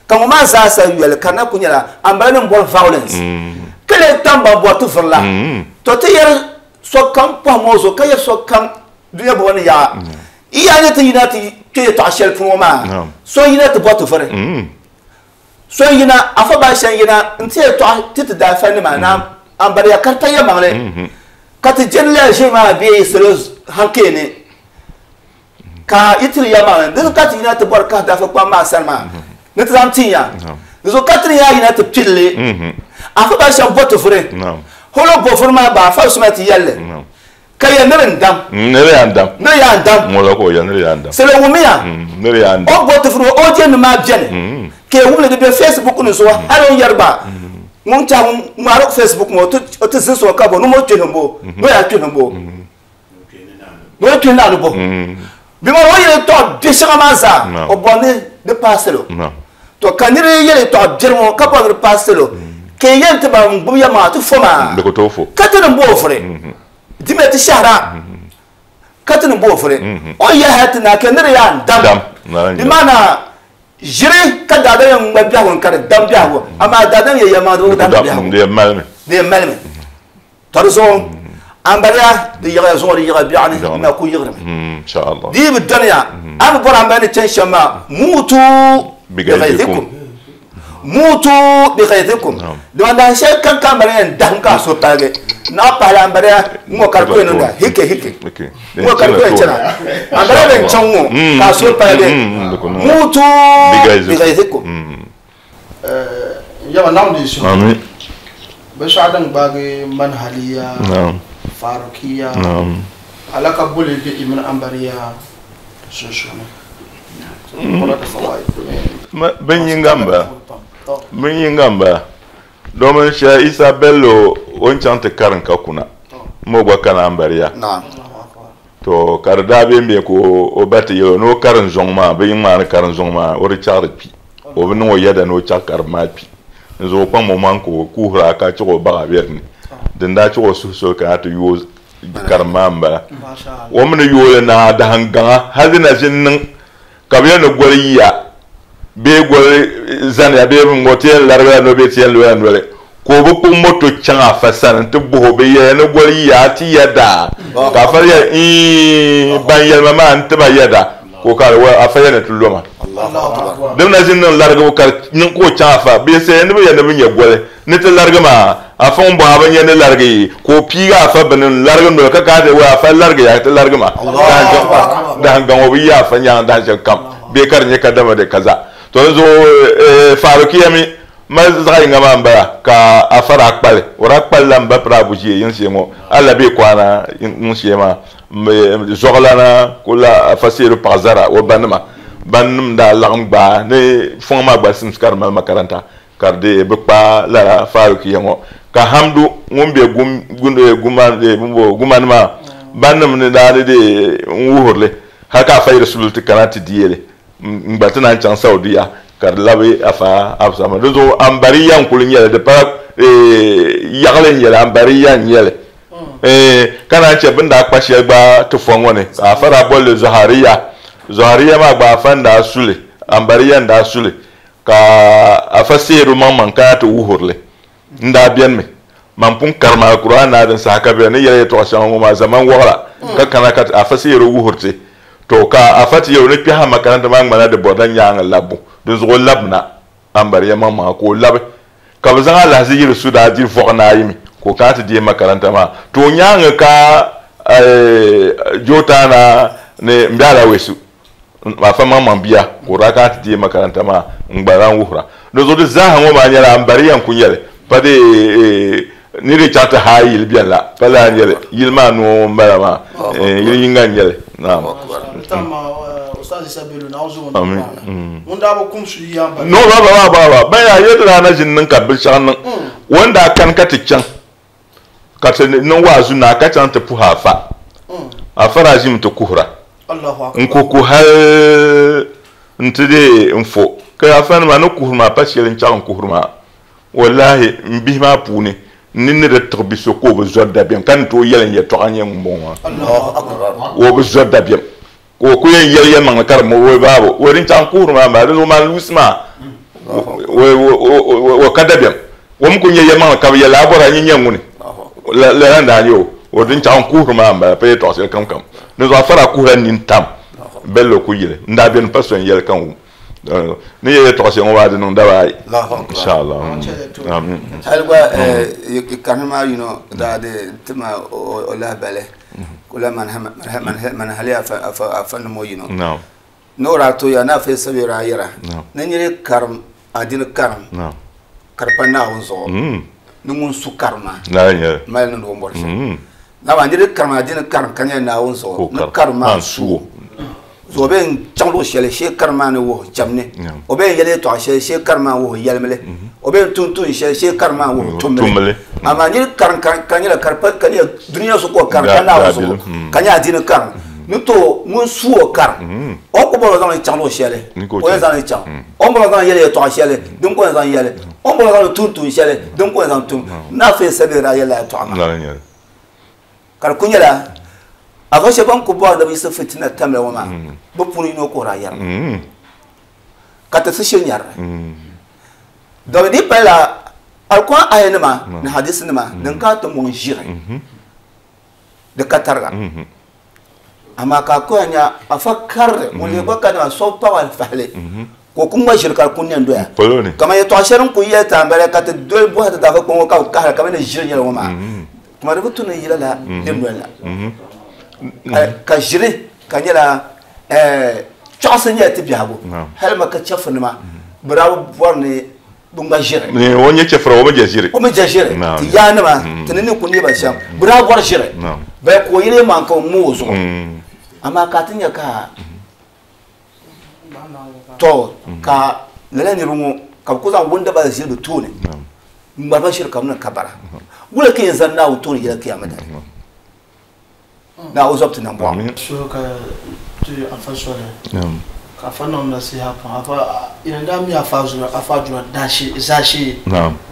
ka ŋɔ maa zaa sa yoli ka di na ku nyɛla ambala nim bɔri violence ka lee tam ban bɔri ti vurila to ti yɛri sokam pɔhim o zuɣu ka yɛri sokam dunia bɔba ni yaɣa yi yaa nyɛ ti yina ti kpe yɛtɔɣa shɛli puuni ŋɔ maa so yina ti bɔri ti vuri. So yina, afa baasha yina nti yɛtɔɣa ti ti daafanima ni ambariya ka di pa yɛlimaŋli, ka ti jɛndi lala ʒiri maa bee salo hankali ni, ka yi tiri yɛlimaŋli. Di zuɣu ka ti yina ti bɔri kahi daafa kpam maa sani maa ni ti zaŋ tin ya. Di zuɣu ka ti ni yaa yina ti pili li. Afa baasha bo ti vuri. Holo bo vuri maa gba, afa Usman ti yɛli li. Ka yɛli ni di n-dam. Ni di yaa n-dam. Ni di yaa n-dam. Ŋɔ la ka o yɛli ni di yaa n-dam. Salo wumiya. Ni di yaa n-dam. O ni bo ti vuri ŋɔ, o jɛndi maa beni. Ka yi wum li di be Facebook ni zuɣu hali o ni yɛri gba ŋun tɛha ŋun ŋmaari Facebook ŋɔ o ti zinsi o ka bo ni o kpihim bo ni o yaa kpihim bo ni o kpihi naa ni bo bɛ maa o yɛli yɛltɔɣa biɛ shɛŋa maa zaa o bɔri ni di paai salo. To ka nira yi yɛli yɛltɔɣa biɛri ŋɔ ka bɔri ni di paai salo, ka yi yɛn ti ban gbubi ya maa ti fo maa, Di ku tooi fo. Ka ti ni bo o vuri. Dimi ti shɛhira ka ti ni bo o vuri. O ni yɛli hali ti naa ka nira yaa n-dam. Dam. Nara Di n-dam. maana ʒiri ka daadam yɛn ŋma biɛhigu ni ka di dam biɛhigu, amaa daadam yɛn yɛli maa di bi Di ku damdi dam, biɛhigu. di yɛn malimi. Di yɛn malimi. To di zuɣu ambaliya di yiɣiya zuŋɔ di yiɣiya biɛɣu ni na ku yiɣirimi. Inshallah. Di yi bi dɔniya a bi bɔri ambali ni chani shɛm maa muutu bighayzikum muutu bighayzikum dama dahin shɛli kam ka ambaliya yɛn dahim ka a suhu paligi naɣ pahila ambaliya ŋɔ ka di ku yɛn niŋda hike hike ŋɔ ka di ku yɛn chana ambaliya bɛn chaŋ ŋɔ ka a suhu paligi muutu bighayzikum. Yaba Naawuni deei suhu. Amin. Binshɛɣu din gbaagi manhaliya, Naam. farukiya, Naam. alaka boli be i mini ambariya sunsuuni. Bin yinga m-bala. Bin yinga m-bala. Domin Shɛh Isa Bello o ni chaŋ ti karim ka kuna, m o gba kana ambariya. Naam. To ka di daa bembe ka o ba ti yɛl o ni o karim zɔŋ maa, bɛ yi ŋmaani karim zɔŋ maa, o di chaɣ di kpi. O bi niŋ o yɛda ni o chaɣ karim maa kpi. N zuɣu kpaŋm o maŋ ka o kuhiri a ka chaɣ o baɣa be di ni. Din daa chaɣ o suhu soli ka a ti yooi karim maa m-bala. O mi ni yooi li naai dahim gaŋa hal di na ʒi n-niŋ ka bɛ yɛli ni goli yiya bee goli zaniya bee ŋ-ŋɔ ti yɛn larigila noli bee ti yɛn lola noli ka o bi kpuɣi moto chaŋ afa sani nti bɔh o, bɛ yɛliya ni goli yiya a ti yɛda? Ka afa yɛli, Iin, ban yɛli ma maa n-ti ma yɛda. Ka o kaari, Wɛl, afa yɛli ni ti lo ma. Di mi na ʒi n-niŋ larigibu ka di niŋ ka o chaŋ afa bɛ yɛli ni bɛ yɛli ni bɛ nya goli ni ti larigi maa. Afa ŋun bɔhi a bi nya ni larigi yi? Ka o piigi afa bini n-larigi noli ka kaai ti, Wɛl, afa larigi ya ti larigi ma. Dahin gaŋ o bi yi afa nyaŋ dahin shɛli kam bee ka di nyɛ kadama di kaza. To di zuɣu Farukiya mi. Ma zaɣ yinga maa n-bala ka afa daa kpali. O daa kpalila m ba Pirabu ʒee yiŋshee ŋɔ. A la bɛ kwana yiŋshee maa. Zuɣulana kula afa Seedu paɣa Zara o banima. Bannim daa laɣim gbaai ni fɔŋ maa gba simsi ka di mali makaranta ka di deei bɛ kpa lala Farukiya ŋɔ. Ka Hamdu ŋun be Gumani maa bannim ni daa ni deei n-wuhiri li hali ka afa yiri sulili ti kana ti deei li. N gba ti naan chaŋ Saudiya ka di labi afa Absalom. Dinzuɣu Ambariya n-kuli nyɛli, di pala yaɣili n-nyɛli, Ambariya n-nyɛli. Ka naan chɛ bɛ ni daa kpa shɛli gba ti fɔ ŋɔ ni, ka afa daa boli li Zɔhariya. Zɔhariya maa gba afa n-daa su li, Ambariya n-daa su li, ka afa Seeru maŋmaŋ kana ti wuhiri li. N daa benimi, man pun karim Alkur'aan naa din saha ka bɛ ni yɛli yɛtɔɣ shɛŋa ŋɔ maa ʒɛman wɔɣila, ka kana ka afa Seeru wuhiri ti. To, ka afa ti yɛl o ni kpɛhi a makaranta maa ŋmanila di bɔrila nyaaŋa labbu, dinzuɣu o labimina Ambariya maŋmaŋa ka o labi. Ka bɛ zaŋ alahizi yiri su daa diri vɔɣu naayi mi ka o kana ti deei makaranta maa. To o nyaaŋa ka Jotaana ni m-be Alawesu afa maŋmaŋ bia ka o daa kana ti deei makaranta maa n-gba lan wuhira. Dinzuɣu di zaaha ŋɔ maa nyɛla Ambariya n-kuli nyɛ li, pa di ni di chaŋ ti haai yili beni la, pa lala n-nyɛ li. Yili maa noo m-bala maa, yili yiŋga n-nyɛ li. Naam. No, ba ba ba ba ba yaa yɛli daa na ʒini niŋ ka binshɛɣu niŋ. O ni daa kani ka ti chaŋ ka ti niŋ waazu naai ka chaŋ ti puhi afa. Afa daa ʒimi ti kuhira. N-kuhi kuhi hali nti dee n-fo. Ka afa nima ni kuhiri maa pa shɛli n-chaŋ n-kuhiri maa. Wallahi m bihi maa puuni n ni ni di tiɣi bi so ka o bi zɔri dabiɛm ka ni tooi yɛli n yɛtɔɣa n-nyɛ ŋumbɔŋɔ maa. O bi zɔri dabiɛm ka o ku yɛn yɛli yɛlimaŋli ka di mo o babu. O din chaŋ kuhiri maa m-bala, dinzuɣu maan luusi maa o ka dabiɛm. O mi ku nya yɛlimaŋli ka bi yɛli a bɔri a nyɛ ŋuni. Lala n-daa nyɛ o. O din chaŋ kuhiri maa m-bala pa yɛtɔɣ shɛli kam kam. Dinzuɣu a fara kuhila nini tam Bello ku yili. N daa beni pa so n-yɛli ka n wum. Ni yɛ yɛtɔɣa shɛli ŋɔ maa di niŋ daba ayi inshallah. Amin. Hali gba karimi maa yino daa di tima o lahabali kula man hali afa nimo yino ni o daa toya ni afa sabi daa yɛra ni niri karim adini karim ka di pa Naawuni zuɣu ni ŋun su karim maa mali niŋdi o ni bɔri shɛm. Nama niri karim adini karim ka nyɛ Naawuni zuɣu ni karim maa su o. So o bɛ chaŋ luɣ shɛli shee karim maa ni wuhi cham ni. O bɛ yɛli yɛtɔɣa shɛli shee karim maa wuhi yɛlimli. O bɛ tum tuun shɛli shee karim maa wuhi tumli. Amaa niri karim ka nyɛla ka ka nyɛ dunia so ka o karim ka Naawuni zuɣu ka nyɛ adini karim ni to ŋun su o karim o ku bɔri o zaŋli chaŋ luɣ shɛli o yɛn zaŋli chaŋ o ni bɔri o zaŋ yɛli yɛtɔɣa shɛli din ka o yɛn zaŋ yɛli o ni bɔri o zaŋli tum tuun shɛli din ka o yɛn zaŋ tum Naafeei Sabiri daa yɛlila yɛtɔɣa maa. Ka di ku nyɛla afa shɛba ban ku bɔri ni bɛ yiɣisi fitina tamla ŋɔ maa, bɛ puuni yino kuhiri a yɛri ma, ka ti si shiri nyari li. Domin di palila Alkuran ayanima ni hadisinima din kana ti mɔŋ ʒiri di ka tariga. Amaa ka a ku yɛn nya afa karili ŋun lihi gba kadama so bi paɣi fahili ka o ku ŋma ʒiri ka di ku nɛ n-doya. Kaman yɛtɔɣ shɛli din ku yɛli ti a m-bala ka ti doli bɔhi ti daafa kpɔŋ ŋɔ ka bɛ kahira ka bɛ ni ʒiri nyɛla ŋɔ maa, tuma di bi tu ni yi lala dindoli la. Ka ʒiri ka nyɛla chɔɣisi nyɛla ti biɛhigu hali Maka chɛfurinima bɛ daa bi bɔri ni bɛ ŋma ʒiri. O nyɛ chɛfura, o mi je ʒiri. O mi je ʒiri. Ti yaanima, ti ni ni ku neei ba shɛm, bɛ daa bɔri ʒiri. Bali ka o yili maŋ ka o ŋma o zuɣu. Amaa ka a ti nya ka to ka lala niriba ŋɔ ka bɛ ku zaŋ wundaba ʒili bɛ tooni n-ŋmari ba ʒiri ka bɛ niŋ kabara. Wula ka yɛn zani Naawuni tooni yɛla kiyama dali? Naawuni zɔbu ti nambɔɣu. Suhu ka ti afa soli ka afa niŋ nasiha pam afa ina daa mi afa zura afa jura dashi zashi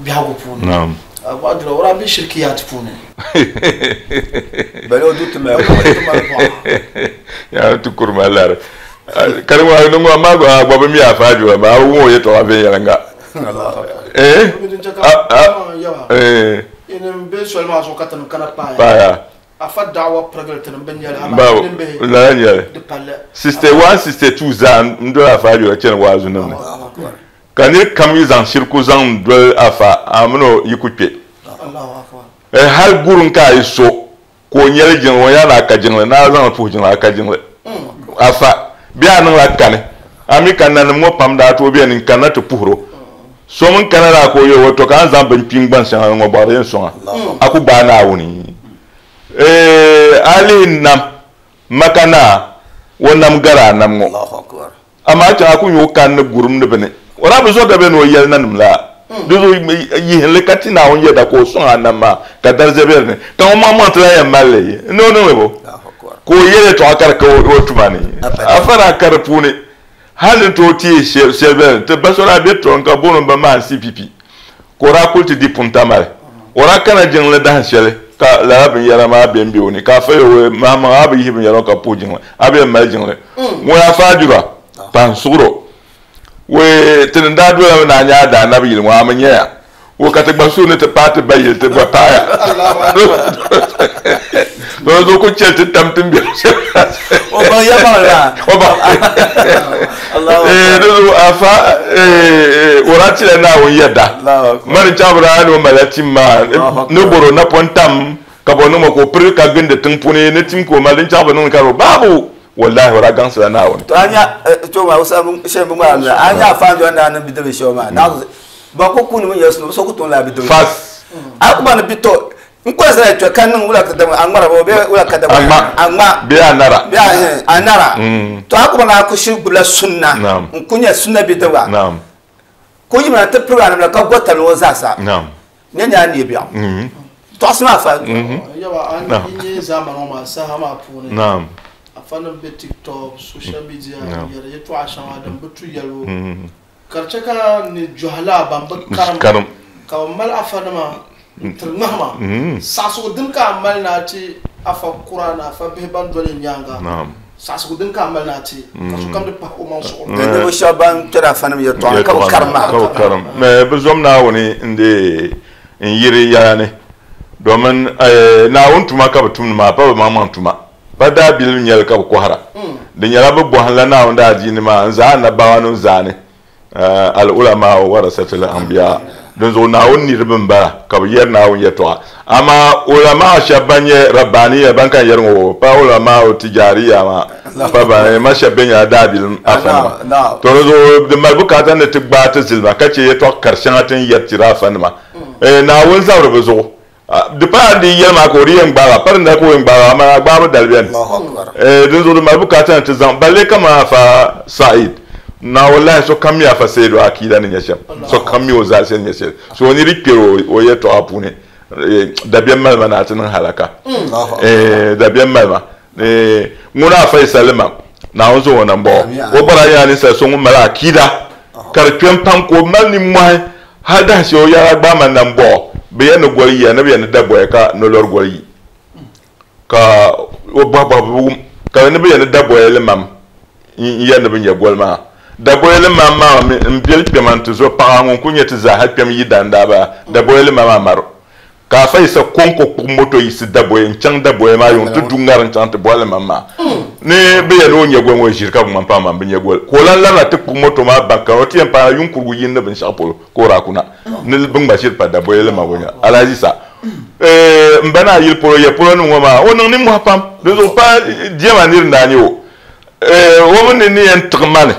biɛhigu puuni afa jura o daa be shirikiyat puuni. Bali o du ti mali bɔɣa. Ya ti kuri ma lari. Kari ŋɔ ni ŋɔ ma gba bi mi afa jura ma a wum o yɛtɔɣa viɛnyɛliŋga. Eh? Eh. Ina be soli maa zuɣu ka ti kana paaya. Paaya. Afa da'awa pirigili ti ni bi nyɛli amaa ti ni bihi lala nyɛli. Di palli. 61 62 zaa n doli afa ayɔla chani waazu nim ni. Ka niri kam yi zaŋ shiriku zaŋ n doli afa a mini o yi ku kpe. Eh, hali gurin ka a yi so ka o nyɛli jiŋli o yaa ni a ka jiŋli ni a zaŋli puhi jiŋli a ka jiŋli. Afa bee a niŋla kani a mi ka nanim ŋɔ pam daa tooi beni n kanna ti puhiri o. So min kana la ka o yɛli o to ka a ni zaŋ bin kpim gban shɛŋa ŋɔ bɔɣiri yɛn sɔŋ a, a ku gbaai Naawuni. A lihi nam Maka naa, o nam gari a nam ŋɔ. Amaa chaŋ a ku nya o kani ni gurim ni bini. O daa bi zɔri dabiɛm ni o yɛli nanim la. Di zuɣu yihinli ka ti Naawuni yɛda ka o sɔŋ a nam maa ka dariza be di ni. Ka ŋun maŋmaŋ ti lan yɛn mali li ni o niŋ li bo? Ka o yɛli yɛtɔɣa ka di ka o tuma ni. Afa daa ka di puuni hal ni tooi teei shɛli bɛ ni ti ba so daa be tɔŋ ka booni o ba maa CPP ka o daa kuli ti di Puntamali. O daa kana jiŋli dahin shɛli ka lala binyɛra maa be m-be o ni ka afa yɛli o maŋmaŋ a bi yihi binyɛra ŋɔ ka puhi jiŋli a bi yɛn mali jiŋli. Ŋuna afa Ajura pahi n-suɣir o. Wee ti ni daa dolami ni a nya a daanabi yili ŋɔ a mi nyaya. Wo ka ti gba suhu ni ti paai ti ba yili ti gba paaya. To di zuɣu ku chɛli ti tam ti ni be shɛli. O baŋ ya baŋli maa. O baŋ. Di zuɣu afa o daa tila Naawuni yɛda. Mani chaŋ bi daa ni o malila tim maa ni bɔri o napɔŋ tam ka bɔ niŋ ma ka o piri ka gindi tiŋ puuni ni tim ka o mali din chaŋ bi niŋdi ka di baabu. Wallahi o daa gaŋsila Naawuni. To a nya to maa o sa shɛli bi ŋmaari la a nya afa n-doli naa ni bidibbil shɛba maa naa ban ku kuuni mi yɛli so ku toon lahi bidibbil Fas. A ku ba ni bi to n koli zaya kpɛ ka niŋ wula ka dama a ŋmara bee wula ka dama A ŋma. a ŋma. Bee a nara. Bee a hɛn a nara. To a ku ba ni a ku shiri gbubila sunna. Naam. N ku nyɛ sunna bidibga. Naam. Ka o yimina ti pirigi a namda ka gɔtali o zaasa. Naam. Nyɛ nyɛ a neei biɛɣu. Tɔɣisi maa fa. Yaba a ni nyɛ zamani ŋɔ maa saha maa puuni. Naam. Afa nim be TikTok, social media n-yɛri yɛtɔɣa shɛŋa din bi tu yɛlibu. Ka di chɛ ka ni jɔhila ban bi karim ka bɛ mali afanima n-tiri ŋmahima. Saɣisigu din ka a mali ni a ti afa kura ni afa bihi ban doli n nyaaŋa. Saɣisigu din ka a mali ni a ti ka sokam di pahi o maŋ suɣuri. Ni ninvuɣ shɛba ban kpɛri afanim yɛtɔɣa ni ka bi karim maa. Ka bi karim. Bɛ zom Naawuni n-deei n-yiri yɛla ni, domin Naawuni tuma ka bɛ tumdi maa, pa bɛ maŋmaŋ tuma. Pa daabilim nyɛli ka bɛ kɔhira. Di nyɛla bɛ bɔhimla Naawuni daadiini maa n-zaai annabawa nim zaani, al-ulamaa'u warasatul anbiya. Dinzuɣu Naawuni niriba m-bala ka bɛ yɛri Naawuni yɛtɔɣa. Amaa ulamaa'u shɛba ban nyɛ Rabbaniya ban kan yɛri ŋɔ pa ulamaa'u tijariya maa pa ban ma shɛba bɛ nyɛla daabilim afanima. To dinzuɣu di mali bukaata ni ti gbaai ti zilima ka chɛ yɛtɔɣ kar shɛŋa ti ni yɛri tiri afanima. Naawuni zabiri bɛ zuɣu. Di pala di yɛli maa ka o di yɛn gbaag a, pa din dali ka o yɛn gbaag a, amaa a gbaabu dali beni. Dinzuɣu di mali bukaata ni ti zaŋ balle kaman Afa Sa'id. Na wallahi sokam mi Afa Saidu akiida ni nyɛ shɛm, sokam mi o zalisi ni nyɛ shɛli. So o ni di kpɛri o yɛtɔɣa puuni, dabiɛm mali ma ni a ti niŋ halaka. Dabiɛm mali ma. Ŋuna Afa Isa Limam, Naawuni zaŋ o na m-bɔɣi o. O gba daa nyɛla ninsal so ŋun mali akiida ka di kpɛm pam ka o mali nimmɔhi. Hal dahinshɛli o yɛla gbaai ma nambɔɣu, bɛ yɛn ni goli yiya ni bɛ yɛn ni da bɔya ka nolɔri goli yi. Ka o bɔhi bɔhi bɛ wum ka ni bɛ yɛn ni da bɔya li mam n-yɛri ni bɛ nya goli maa. Daboya li mam maa mi m biɛli kpɛma nti zo paɣa ŋun kul nyɛ ti zaaha kpɛm yi dan daa bala Daboya li mam Amaru. Ka Afa Yisa kɔŋko kpuɣi moto yiɣisi Daboya n-chaŋ Daboya maa yuŋ ti du ŋariŋ chaŋ ti bɔhi li mam maa ni bɛ yɛli ni o nya goli ŋɔ ʒiri ka bɛ ŋmani paɣa maa bi nya goli. Ka o lan labina ti kpuɣi moto maa baŋ ka o ti yɛn paana yuŋ kurigu yini ni binshɛɣu polo ka o daa kuna ni bɛ ŋma ʒiri pa Daboya li mam o nya Alhaji Yisa m ba naa yili polo ya polo nim ŋɔ maa o niŋ nimmohi pam dinzuɣu pa diɛma niri n-daa nyɛ o o mi ni ni yɛn tiɣi ma ni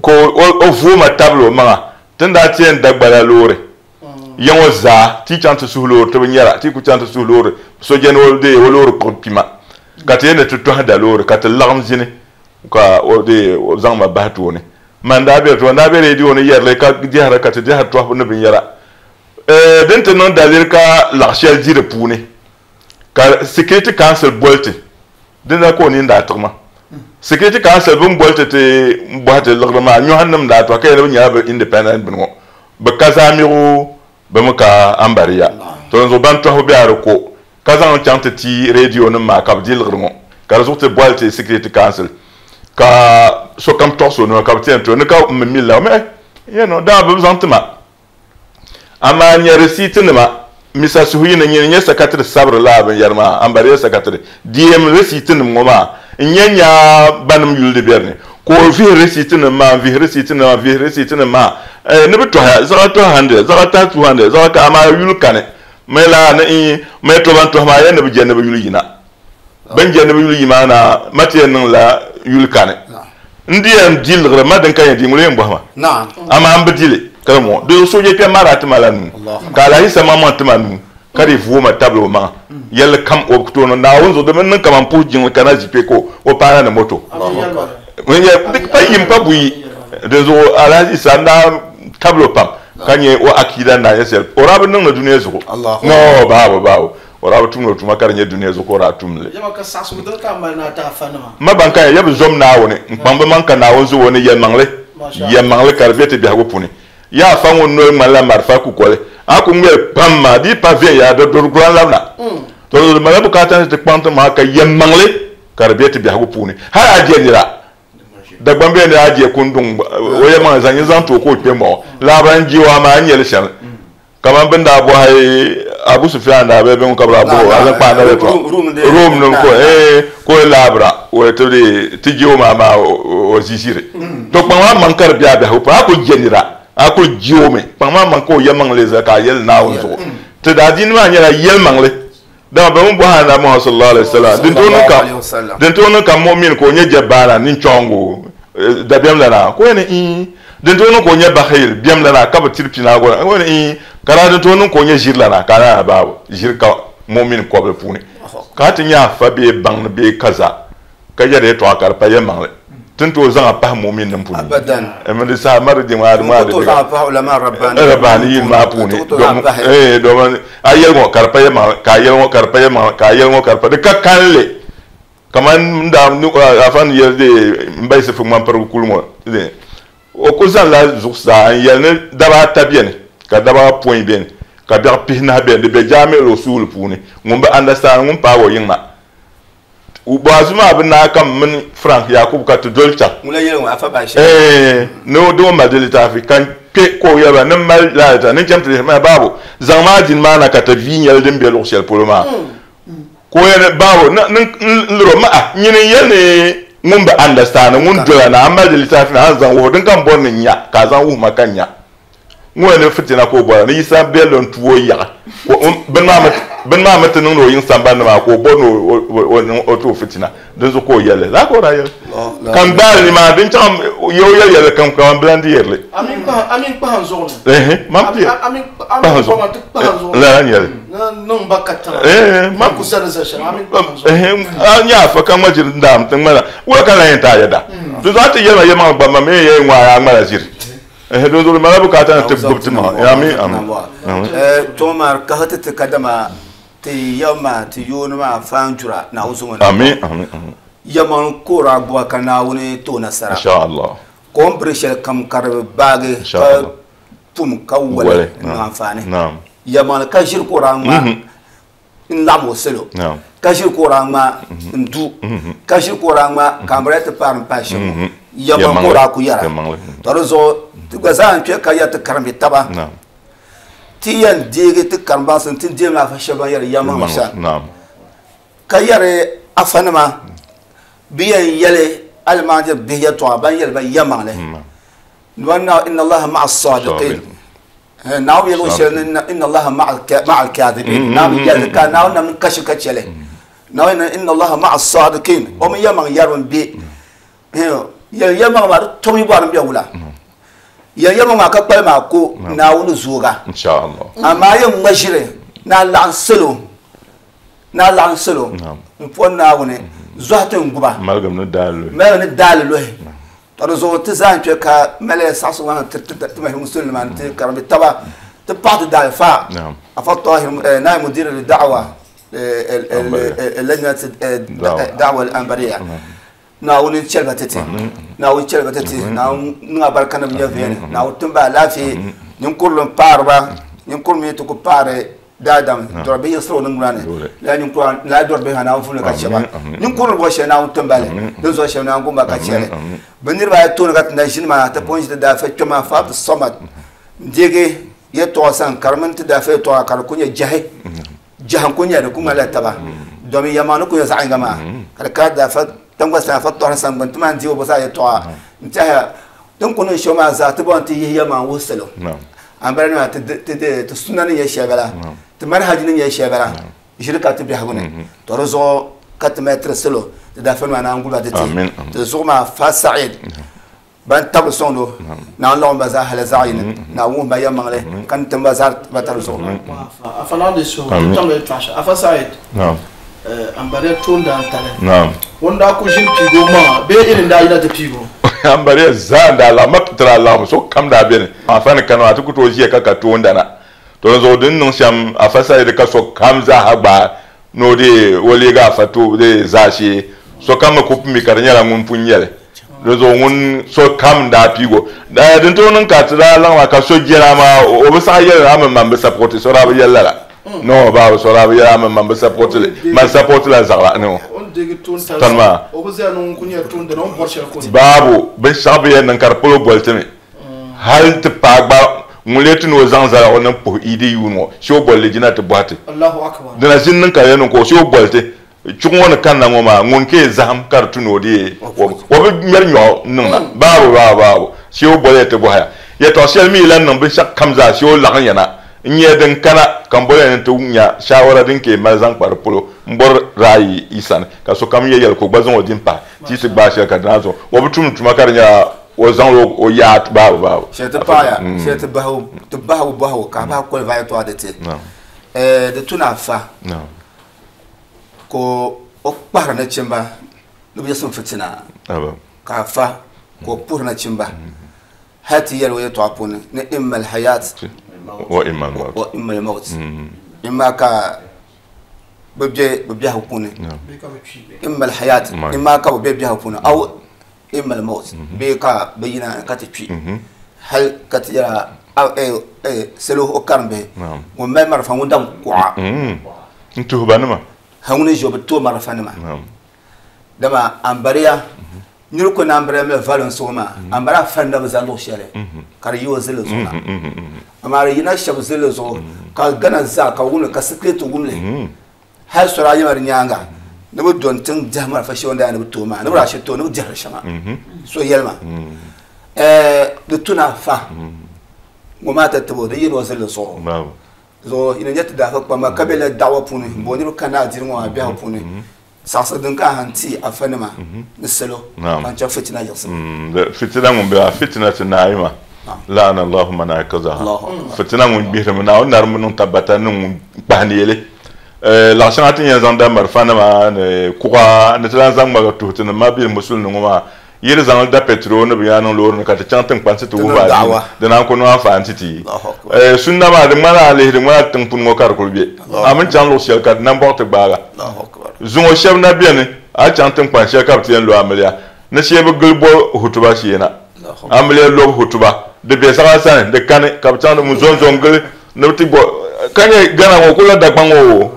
ka o vooi ma tabili o maŋa ti ni daa ti yɛn da gbala loori Ya ŋɔ zaa, ti yi chaŋ ti suhi loori, ti bi nyara, ti yi ku chaŋ ti suhi loori, sojani o deei o loori kpuɣi kpima, ka ti yɛn ni ti tɔhi da loori, ka ti laɣim ʒini, ka o deei o zaŋ ma bahi tooni. Man daa be di tooni, n daa be redio ni yɛri li ka dɛhira, ka ti dɛhiri tɔhibu ni binyɛra. Din ti niŋ daliri ka laɣ shɛli di di puuni, ka Security Council boli ti, dina ka o nini daa tiɣi ma. Security Council bɛ ni boli ti ti bɔhi ti liɣiri maa, nyɔhi nim daa tɔhi ka yɛli ni bɛ nyɛla bɛ independent bini ŋɔ. Bɛ ka zaamigu, bɛ mi ka ambariya. To dinzuɣu ban tɔhibu be a di ko ka zaŋ chaŋ ti ti radio nim maa ka bɛ di liɣiri ŋɔ. Ka di zuɣu ti boli ti Security Council ka sokam tɔɣisi o noli ka bɛ ti yɛn ti o ni ka m mi mili la o mi eh, yɛn o daa bɛ bi zaŋ ti ma. Amaa n-nyɛ risiitinima, Misa Suhuyini nyini n-nyɛ sakatiri sabiri lala binyɛri maa, Ambariya sakatiri, DM risiitinim ŋɔ maa, n-nyɛ nya banim yuli di be di ni, ka o vihi risiitinim maa, n-vihi risiitinim maa, n-vihi risiitinim maa, eh, ni bɛ tɔhiya, zaɣa tɔhi hundred, zaɣa tahi 200, zaɣa ka, amaa yuli kani. Mɛ laa ni n mɛ tɔ ban tɔhi maa yɛn ni bɛ je ni bɛ yuli yina. Bɛ ni je ni bɛ yuli yi maa na, ma ti yɛn niŋla yuli kani. N di yɛn di liɣiri, ma din ka yɛn di, ŋuni yɛn bɔhi ma? Amaa m bi di li. Kalmo de soje pe mara tima la nu ka la hisa mama tima nu ka di vuuma tabili o maŋa yɛlli kam o tooni Naawuni zuɣu di mini niŋ kaman puhi jiŋli kana zipe ko o paana ni moto pa yim pa buyi din zuɣu Alhaji Isa n daa tabili o pam ka nyɛ o akida n daa nyɛ shɛli o daa bi niŋdi dunia zuɣu no baabo baabo o daa bi tumdi o tuma ka di nyɛ dunia zuɣu ka o daa tumli ma ban ka ya bi zom Naawuni n kpaŋ bi maŋ ka Naawuni zuɣu o ni yɛlimaŋli yɛlimaŋli ka di bɛ ti biɛhigu puuni ya afa ŋun noli ŋmanila marifa kukoli a ku ŋmɛri pam maa di pa viɛnyɛla di duri gulan labina to di mali bukaata ni ti kpaŋ ti maŋa ka yɛlimaŋli ka di bɛ ti biɛhigu puuni hali a je nira Dagbaŋ bɛ ni a je kunduŋ o yɛlimaŋli zaŋ nyɛ zaŋ ti o ka o kpe mɔɣu laabira n je o amaa n nyɛli shɛli kaman bin daa bɔhi Abu Sufyan daa bɛ bin ka bi daa bɔhi o a zaŋ kpaai na bɛ tɔ Rom nim ko ko laabira o ti di ti je o maa maa o ziziri to kpaŋ maa maŋ ka di bɛ a biɛhigu puuni a ku je nira a ku je o mi kpaŋ maa maŋ ka o yɛlimaŋli zali ka a yɛli Naawuni zuɣu ti daa diini maa nyɛla yɛlimaŋli dama bɛ mi bɔhi Anabi Muhammad sallallahu alaihi wasallam din tooi niŋ ka mu'min ka o nyɛ jabbaana ninchɔŋgu dabiɛm lana ka o yɛli ni din tooi niŋ ka o nyɛ bakhil biɛm lana ka bi tiri pinaagu ka o yɛli ni ka daa din tooi niŋ ka o nyɛ ʒiri lana ka a baabu ʒiri ka mu'min kɔbili puuni ka a ti nyɛ afa bee baŋni bee kaza ka yɛri yɛltɔɣa ka di pa yɛlimaŋli ti ni tooi zaŋ a pahi mu'min nim puuni mi di saha mari di maa di maa di rabbani yin maa puuni domin a yɛli ŋɔ ka di pa yɛlimaŋli ka a yɛli ŋɔ ka di pa yɛlimaŋli ka a yɛli ŋɔ ka di pa di ka kalinli kaman daa afa ni yɛli n ba Yisifu ŋmanpirigu kuli ŋɔ o ku zaŋla zuɣusaa n yɛli ni daba ata beni ka daba apɔin beni ka biɛɣu pihinahi beni di be jaami'il usuuli puuni ŋun bi understand ŋun paagi o yiŋma Bɔazu maa bi naai kam mini Frank Yakubu ka ti doli chaŋ. Ni o di o mali di litaafi ka n kpe ka o yɛli ba ni m mali lala litaafi ni n chaŋ ti lihi maa babu zaŋ maa dini maa na ka ti vii nyɛli din be luɣ shɛli polo maa ka o yɛli babu ni n liri o ma'a nyini n yɛli ni ŋun bi understand ŋun dola na a mali di litaafi na a ni zaŋ wuhi din ka m bɔri ni n nya ka a zaŋ wuhi ma ka n nya. Ŋɔ ni fitina ka o bɔra ni Yisa belli n-tu o yaɣi bini maa mi ti niŋdi o yiŋ sambani ni maa ka o bɔri ni o ti o fitina dinzuɣu ka o yɛli li. Lala ka o daa yɛli. Ka n gbaai li maa din chaŋ ya o yɛli yɛlli kam kaman bilandi yɛri li. A mini kpahi n zuɣu ni. Ehe, man ti kpahi n zuɣu. Lala n yɛli. Ni niŋ ba katiŋa. Ku zali zali shɛli, a mini kpahi n zuɣu. Ehe, a nya afa ka ŋma ʒiri n-daam ti ŋmana. Wula ka lan yɛn ti a yɛda? Dinzuɣu a ti yɛli ma yɛlimaŋli gba ma mi yɛn ŋmaai a ŋmala ʒiri. Don zuɣu mala bukaata ni ti gbubi ti maŋa. Ami, ami. Tɔŋ maa kahi ti ti kadama ti yɛm maa ti yooni maa faan jura Naawuni zuŋɔ ni. Ami, ami, ami. Yɛmaŋ ka o daa gbuba ka Naawuni ti o nasara. Insha Allah. Ka o ni biri shɛli kam ka di baagi ka pum ka wali n-niŋ anfaani. Yɛmaŋli ka ʒiri ka o daa ŋmaa n laɣim o salo ka ʒiri ka o daa ŋmaa n du ka ʒiri ka o daa ŋmaa ka ambrɛla ti paari n pahi shɛm ŋɔ yɛmaŋ ka o daa ku yɛra to di zuɣu ti gba zaa n kpɛ ka yɛri ti karimbi taba ti yɛn deegi ti karim baŋsim ti deemi afa shɛba ban yɛri yɛmaŋ shɛm ka yɛri afanima bi yɛn yɛli alimaajiri bihi yɛltɔɣa ban yɛli ba yɛmaŋli inna Allaha ma'a as-sadiqin Naawuni yɛli shɛli ni inna Allaha ma'a al-kadhibin Naawuni yɛli ka Naawuni nam kashi ka chɛli Naawuni inna Allaha ma'a as-sadiqin o mi yɛlimaŋ yɛriba n-be yɛli yɛlimaŋ maa di tomi bɔri n-be wula yɛli yɛlimaŋ maa ka kpali maa ko Naawuni zooga amaa yɛn ŋma ʒiri ni a laɣim salo ni a laɣim salo n-pɔri Naawuni zɔhi ti n-guba maligim ni daali luhi To di zuɣu ti zaa n-kpe ka mali saɣisigu maa ti ti mahim musulinima nti karimbi taba ti paɣi ti daalifa Afa Tahir Naai Mudir li-da'wa lajnat da'wa al-anbariya Naawuni chɛli ba ti ti Naawuni chɛli ba ti ti Naawuni niŋ a barika ni bɛ nya veeni Naawuni tim ba alaafee ninkurili m-paari ba ninkurili mi ti ku paari daadam dɔri bihi yiɣisiri o niŋgbuna ni lala ninkura lala dɔri bihi maa Naawuni vuhim li ka chɛ ba ninkurili bɔri shɛli Naawuni tim ba li din zuɣu shɛli Naawuni gum ba ka chɛ li bɛ niriba ayi tooni ka ti na ʒini maa ti pun ʒi ti daafe kpɛm maa fa Abdul Samad n-deegi yɛltɔɣa sani ka di mini ti daafe yɛltɔɣa ka di ku nyɛ jahi jahi n-ku nyɛ di ku ŋmanila taba domin yɛlimaŋli ni ku nyɛ zaɣ yinga maa ka di kana daafe tiŋgbani sani Afa Tɔhiri sani gbuni ti maan deegi o zaa yɛltɔɣa n-tɛhiya Din ku niŋ shɛm maa zaa ti bɔŋɔ ti yihi yɛlimaŋ wuhi salo. Ambala nima ti sunna ni nyɛ shɛli bala, ti manhaji ni nyɛ shɛli bala, ʒiri ka ti biɛhigu ni. To di zuɣu ka ti mali tiri salo ti daafani maa naan guli ba ti ti. Ti zuɣu maa Fa Sa'id. Ban tabiri sɔŋdo Naawuni laɣim ba zaa hali zaɣ yini Naawuni wuhi ba yɛlimaŋli ka ni tim ba zaa ba tari zuɣu. Afa Naawuni di suhu ti tamla yɛltɔɣa shɛli Afa Said Ambariya toondaan tali ŋun daa ku ʒini piigi o maŋa bee Irin daa yina ti piigi o. Ambariya zaa n-daa laɣim ma ti daa laɣim sokam daa beni Afa ni kani maa ti ku tooi ʒiya ka ka toondana. To di zuɣu di ni niŋ shɛm Afa Said ka sokam zaaha gbaai ni o deei o leegi afa toobu dee zaashee, sokam mi ku mi ka di nyɛla ŋun pun nyɛ li. Di zuɣu ŋun sokam n-daa piigi o. Din tooi niŋ ka ti daa laɣim maa ka so jɛra amaa o bi saɣi yɛli ni a mini man bi sapɔti, so daa bi yɛli lala. No, babu, so daa bi yɛli a mini man bi sapɔti li, man sapɔti la zaɣila. No. Tani maa. Babu, binshɛɣu bi yɛn niŋ ka di polo boli ti mi. Hal ti paai gba ŋun lee ti ni o zaŋ zaligu niŋ puhi Idi yuuni ŋɔ, shee o boli li jina ti bɔhi ti. Dina ʒini niŋ ka di yɛn niŋ ka o shee o boli ti chuɣu ŋɔ ni kanna ŋɔ maa, ŋun ka yi zahim ka di tu ni o deei o bi ŋmɛri nyɔɣu niŋ na. Baabu, baabu, baabu, shee o boli ya ti bɔhi ya. Yɛtɔɣ shɛli mi yi lan niŋ binshɛɣu kam zaa shee o laɣim ya na n-nyɛ din kana ka m boli ya ni ti nya shaawara din ka yi mali zaŋ kpa di polo m-bɔri ra'ayi yi sani ka sokam yɛ yɛli ka o gba zaŋ o din pahi ti yi ti gbaai shɛli ka di naan zuɣu o bi tumdi tuma ka di nyɛla o zaŋla o yaa baabu baabu. Shɛli ti paɣaya, shɛli ti bahigu, ti bahigu bɔhigu ka a bahi qualify yɛltɔɣa di ti. Di tu ni a fa ka o kpahiri nachimba ni bɛ yiɣisim fitina ka a fa ka o puhiri nachimba hali ti yɛli o yɛltɔɣa puuni ni imma al-hayat wa imma al-maut imma ka bɛ be bɛ biɛhigu puuni imma al-hayat imma ka bɛ be biɛhigu puuni aw imma al-maut bee ka bɛ yina ka ti kpi hali ka ti yɛra salo o karimbihi ŋun mali marafa ŋun daŋ kuɣa n tuhi ba nima ha ŋuni ʒi o bi tooi marafa nima dama ambariya niri ku ni ambariya mali violence ŋɔ maa ambariya fanda bi za luɣ shɛli ka di yi o zilli zuɣu na amaa di yina shɛba zilli zuɣu ka Ghana zaa ka wumli ka security wumli hali sora ayi maa di nyaanga ni bi doni tiŋ diɛhi marafa shɛli daa ni bi tooi maa ni bi daa shiri tooi ni bi diɛhiri shɛŋa so yɛli ma di tu ni a fa ŋɔ maa ti tibo di yina o zilli zuɣu zuɣu yina nyɛ ti daafa kpamba ka be la daɣawa puuni n bo niriba kana adini ŋɔ maa biɛhigu puuni saɣasi din ka han ti afa nima ni salo ban chaŋ fitina yiɣisi fitina ŋun be fitina ti naayima laana Allahu man ayqazaha fitina ŋun gbihirimi Naawuni narimbu niŋ tabbata ni ŋun kpahi neeli Laɣ shɛŋa ti ni yɛn zaŋ da malifanima ni kuɣa ni ti lan zaŋ ŋmaligi tuhi ti ni mabili musulini ŋɔ maa, yi di zaŋ li da pɛtiro ni binyɛra niŋ loori ni ka ti chaŋ tiŋkpansi ti wuhi ba adiini, di naan ku niŋ anfaani ti ti. Sunna maa di ŋmanila a lihi di ŋmanila tiŋ puni ŋɔ ka di kuli be. A mini chaŋ luɣ shɛli ka di nambɔɣu ti gbaag a. Zuŋɔ shɛba na beni, a yi chaŋ tiŋkpan shɛli ka bɛ ti yɛn lo amiliya ni shee bɛ gili bo hutuba shee na. Amiliya lobu hutuba, di be saɣa sani, di kani ka bɛ chaŋ ti zɔnzo n-gili ni bɛ ti bo ka nyɛ Ghana ŋɔ kuli la Dagbaŋ ŋɔ o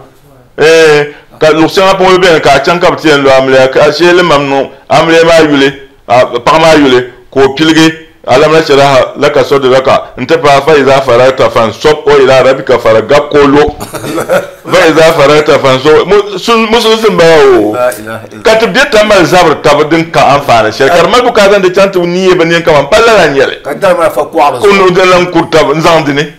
eh ka luɣ shɛŋa polo beni ka a chaŋ ka bɛ ti yɛn lo amiliya ka shee limam niŋ amiliya maa yuli paɣa maa yuli ka o piligi alam nashraha laka sadraka n-ti paai fa iza faragta fansɔb wa ila rabbika fargab ka o lo fa iza faragta fansɔb musulinsi m-bala o ka ti be tamali zabiri taba din ka anfaani shɛli ka di mali bukaata ni di chaŋ ti neei bi neen kaman palli la n-nyɛ li Ka dari maa fa kuɣa bi zuɣu. Ka o lan kuri taba n-zaŋ di ni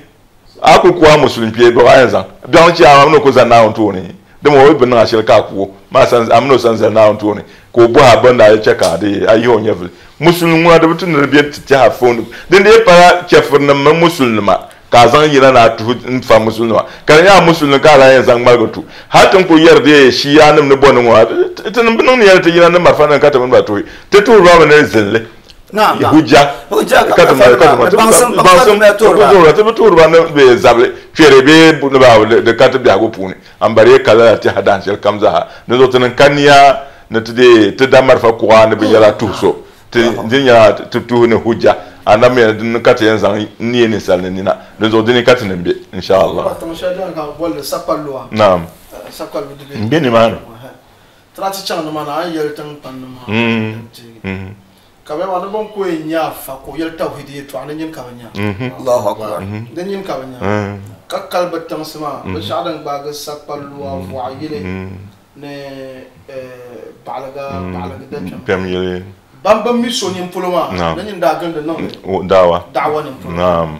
a kuli ku a musulin kpee biɛɣu a yɛn zaŋ biɛɣu n-chɛ a mini o ku zani Naawuni tooni dama o yi bi niŋ a shɛli ka a ku o maa a mini o sani zali Naawuni tooni ka o bɔhi a bɛ ni daa chɛ ka a di a yihi o nyɛvili musulin ŋuna di bi tu ni di be ti tɛha fooni din dii pala chɛfirinim mini musulinima ka a zaŋ yina ni a tuhi n-fa musulinima ka di nyɛ a musulini ka a lahi yɛn zaŋ ŋmaligi tu hal ti ni kuli yɛri di shiianim ni bɔ ni ŋɔ ti ni bi niŋ nia ni ti yina ni marafa nim ka ti mini ba tuhi ti tuhiri ba mi ni zinli hujja ka ti mali ka ti baŋsim ti bi tuhiri ba ni bɛ zabili kpɛri bee ni ba di ka ti biɛhigu puuni ambariya ka lala tɛha dahin shɛli kam zaaha di zuɣu ti niŋ ka nia ni ti deei ti da marafa kuɣa ni binyɛra tuhi so ti di nyɛla ti tuhi ni hujja anabi mi ni ka ti yɛn zaŋ neei ninsal ni nina di zuɣu dini ka ti ni be insha Allah naam n be nimaani Ka bɛ maa ni bɛn ku yɛn nya afa ka o yɛli tawhidi yɛltɔɣa ni nyini ka bɛ nya. Allahu Akbar. Di nyini ka bɛ nya. Ka kali bɛ tiŋsi maa, binshɛɣu din gbaagi sakpalua, vɔɣu yili ni baɣiliga, baɣiligi dakpɛm yili. Ban bi mi so nini polo maa, di nyini daa gindi niŋdi da'awa nini polo. Naam.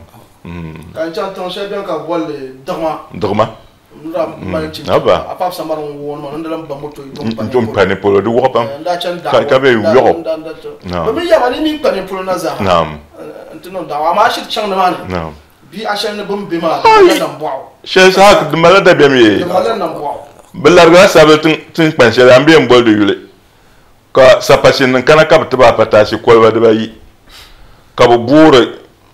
Ka n chaŋ tiŋ shɛli bɛni ka bɛ boli li Diɣima. Diɣima. N pani polo di wuɣi pam ka bɛ yɔɣu. Bɛ mi yaba ni mi kpa polo na zaa. Naam. N ti niŋ daawa amaa shiri chaŋ nimaani. Naam. Bi a shɛli ni bini be maa di malila nambɔɣu. Shɛli saha di malila dabiɛm yee. Di malila nambɔɣu. Bɛ larigila sabili tiŋkpan shɛli a ni bɛ yɛn boli di yuli ka sapashinnim kana ka bɛ ti ba apataasi koliba dibayi ka bɛ boori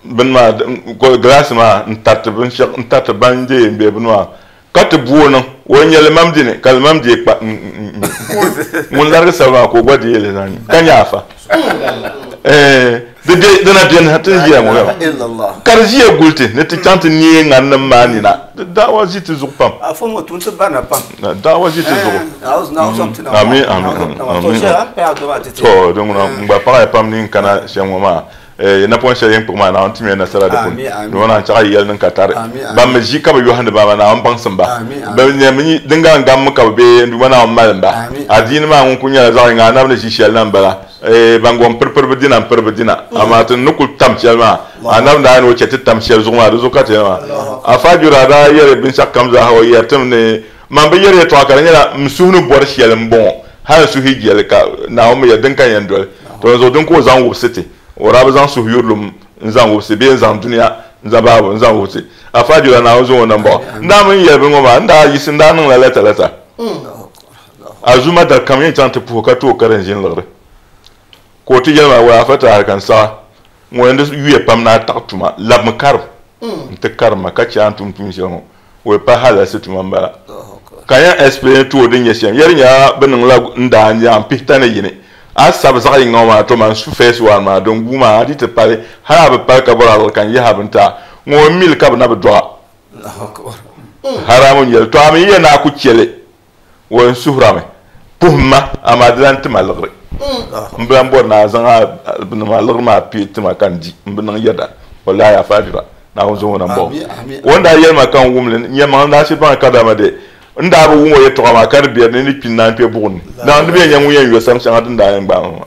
bini maa gilaasi maa n-tariti binshɛɣu n-tariti ban je yɛn be bini maa ka ti booi niŋ o n-nyɛ limam dini ka limam deei kpa ŋun larigi sabili maa ka o gba deei li zaŋ nyu ka nyɛ afa. Di be di na beni ha ti ni ʒiya ŋɔ gba ka di ʒiya guli ti ni ti chaŋ ti neei ŋaninim maa nina. Di daawa ʒi ti zuɣu pam. Afa ŋɔ tuun ti barina pam. Daawa ʒi ti zuɣu. Amin amin amin. To din ŋuna n gba paɣaya pam ni n kana shɛm ŋɔ maa napɔŋ shɛli yɛn kpuɣi maa Naawuni timiya nasara di puuni. Di naan chaɣ yi yɛli niŋ ka tari. Ban mi ʒi ka bi yɔhindi ba maa Naawuni baŋsim ba. Bɛ nyɛmi din gari n-gammi ka bɛ be n Duuma Naawuni malim ba. Adiini maa ŋun kuli nyɛla zaɣ yiŋga anabi ni ʒi shɛli na m-bala. Ban gom piripiri bi dina m-piri bi dina, amaa ti ni kul tam shɛli maa, anabi daa ni o chɛ ti tam shɛli zuɣu maa, di zuɣu ka ti yɛli maa. Afa Juda daa yɛli binshɛɣukam zaa ha o yɛri tim ni, Man bi yɛri yɛtɔɣa ka di nyɛla n suhu ni bɔri shɛli m-bɔŋɔ, hal n suhu yi jɛli ka Naawuni mi yɛli din ka yɛn doli. To di zuɣu din ka o zaŋ wubisi ti, o daa bi zaŋ suhuyurilim n-zaŋ wubisi bee n-zaŋ dunia n-zaŋ baabu n-zaŋ wubisi. Afa Juda Naawuni zaŋ o nambɔɣu. N daa mi n-yɛli bini ŋɔ maa, n daa yiɣisi n daa niŋla lɛta lɛta. Azuma dari kam yɛn chaŋ ti puhi ka tooi karim ʒini liɣiri. Ka o ti yɛli ma, Wai afa Tahir ka n saɣi ŋɔ yɛn di yuya pam ni a taɣi tuma, labimi karim n-ti karim ma ka chɛ a ni tum tuun shɛli ŋɔ. O yi pa halalisi tuma m-bala. Ka n yɛn explain ti o din nyɛ shɛm. Yɛli nyɛla bɛ niŋla n daa nya m pihita ni yini. A sabi zaɣ yiŋga ŋɔ maa to man su first one maa din guui maa a di ti pali hali a bi pali ka bɔri a liɣiri ka n yahi a bini ti a. Ŋɔ m mili ka bɛ na bi dɔɣ a. Haramu n-nyɛ li. To a mi yi yɛn ni a ku chɛ li, o yɛn suhirami, Puhim ma, amaa di lan ti ma liɣiri. M bi lan bɔri ni a zaŋ a liɣiri maa pii ti ma ka n di. M bi niŋ yɛda. Wallahi a faajira, Naawuni zaŋ o na m-bɔŋɔ. O ni daa yɛli ma ka n wum li, nyɛmaŋ n daa shiri baŋ kadama de n daa bi wum o yɛtɔɣa maa ka di be di ni kpi n-naan kpe buɣim ni. Naawuni di bi yɛn nyɛ ŋun yɛn yo sam shɛŋa din daa yɛn gbaai ma maa.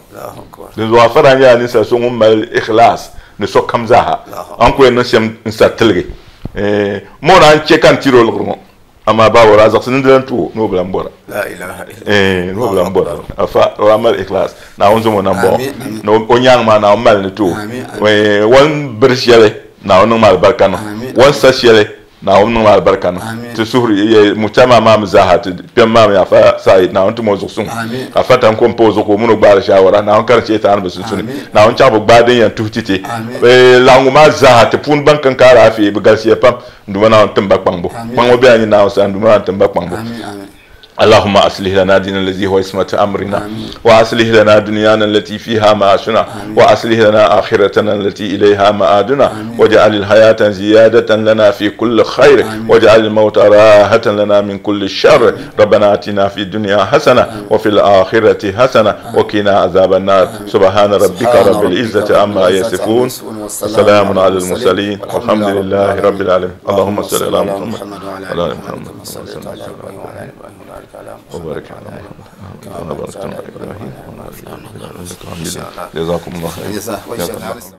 Dinzuɣu afa daa nyɛla ninsal so ŋun mali ikhlaas ni sokam zaaha. A ni ku yɛn niŋ shɛm n-sa tiligi. Mo naan chɛ ka n tiri o liɣiri ŋɔ, amaa baa o daa zaɣisi ni di lan ti o ni o bi lan bɔra. Ni o bi lan bɔra. Afa o daa mali ikhlaas. Naawuni zaŋ o nambɔɣu ni o nyaaŋa maa Naawuni mali ni ti o. O ni biri shɛli Naawuni niŋ ma alibarika niŋ. O ni sa shɛli Naawuni niŋ ma alibarika niŋ. Ti suhuri mujtama maa mi zaaha ti kpɛm maa mi afa Said Naawuni tim o zuɣu suŋ. Afa tan ko m-pa o zuɣu ka o mini o gbaari shaawara. Naawuni karim sheetaani bi sunsuni. Naawuni chaɣ bi gbaai din yɛn tuhi ti ti. Laɣingu maa zaaha ti puuni ban kan ka alaafee bi galisiya pam. N Duuma Naawuni tim ba kpaŋbu. Kpaŋbu bela nyin Naawuni sani, n Duuma Naawuni tim ba kpaŋbu. اللهم أصلح لنا ديننا الذي هو عصمة أمرنا وأصلح لنا دنيانا التي فيها معاشنا وأصلح لنا آخرتنا التي إليها مآدنا واجعل الحياة زيادة لنا في كل خير واجعل الموت راحة لنا من كل شر ربنا آتنا في الدنيا حسنة وفي الآخرة حسنة وقنا عذاب النار سبحان ربك رب العزة عما يصفون وسلام على المرسلين والحمد لله رب العالمين اللهم صل على محمد وعلى آل محمد وبارك على محمد كما باركت على إبراهيم وعلى آل إبراهيم إنك حميد جزاكم الله خير.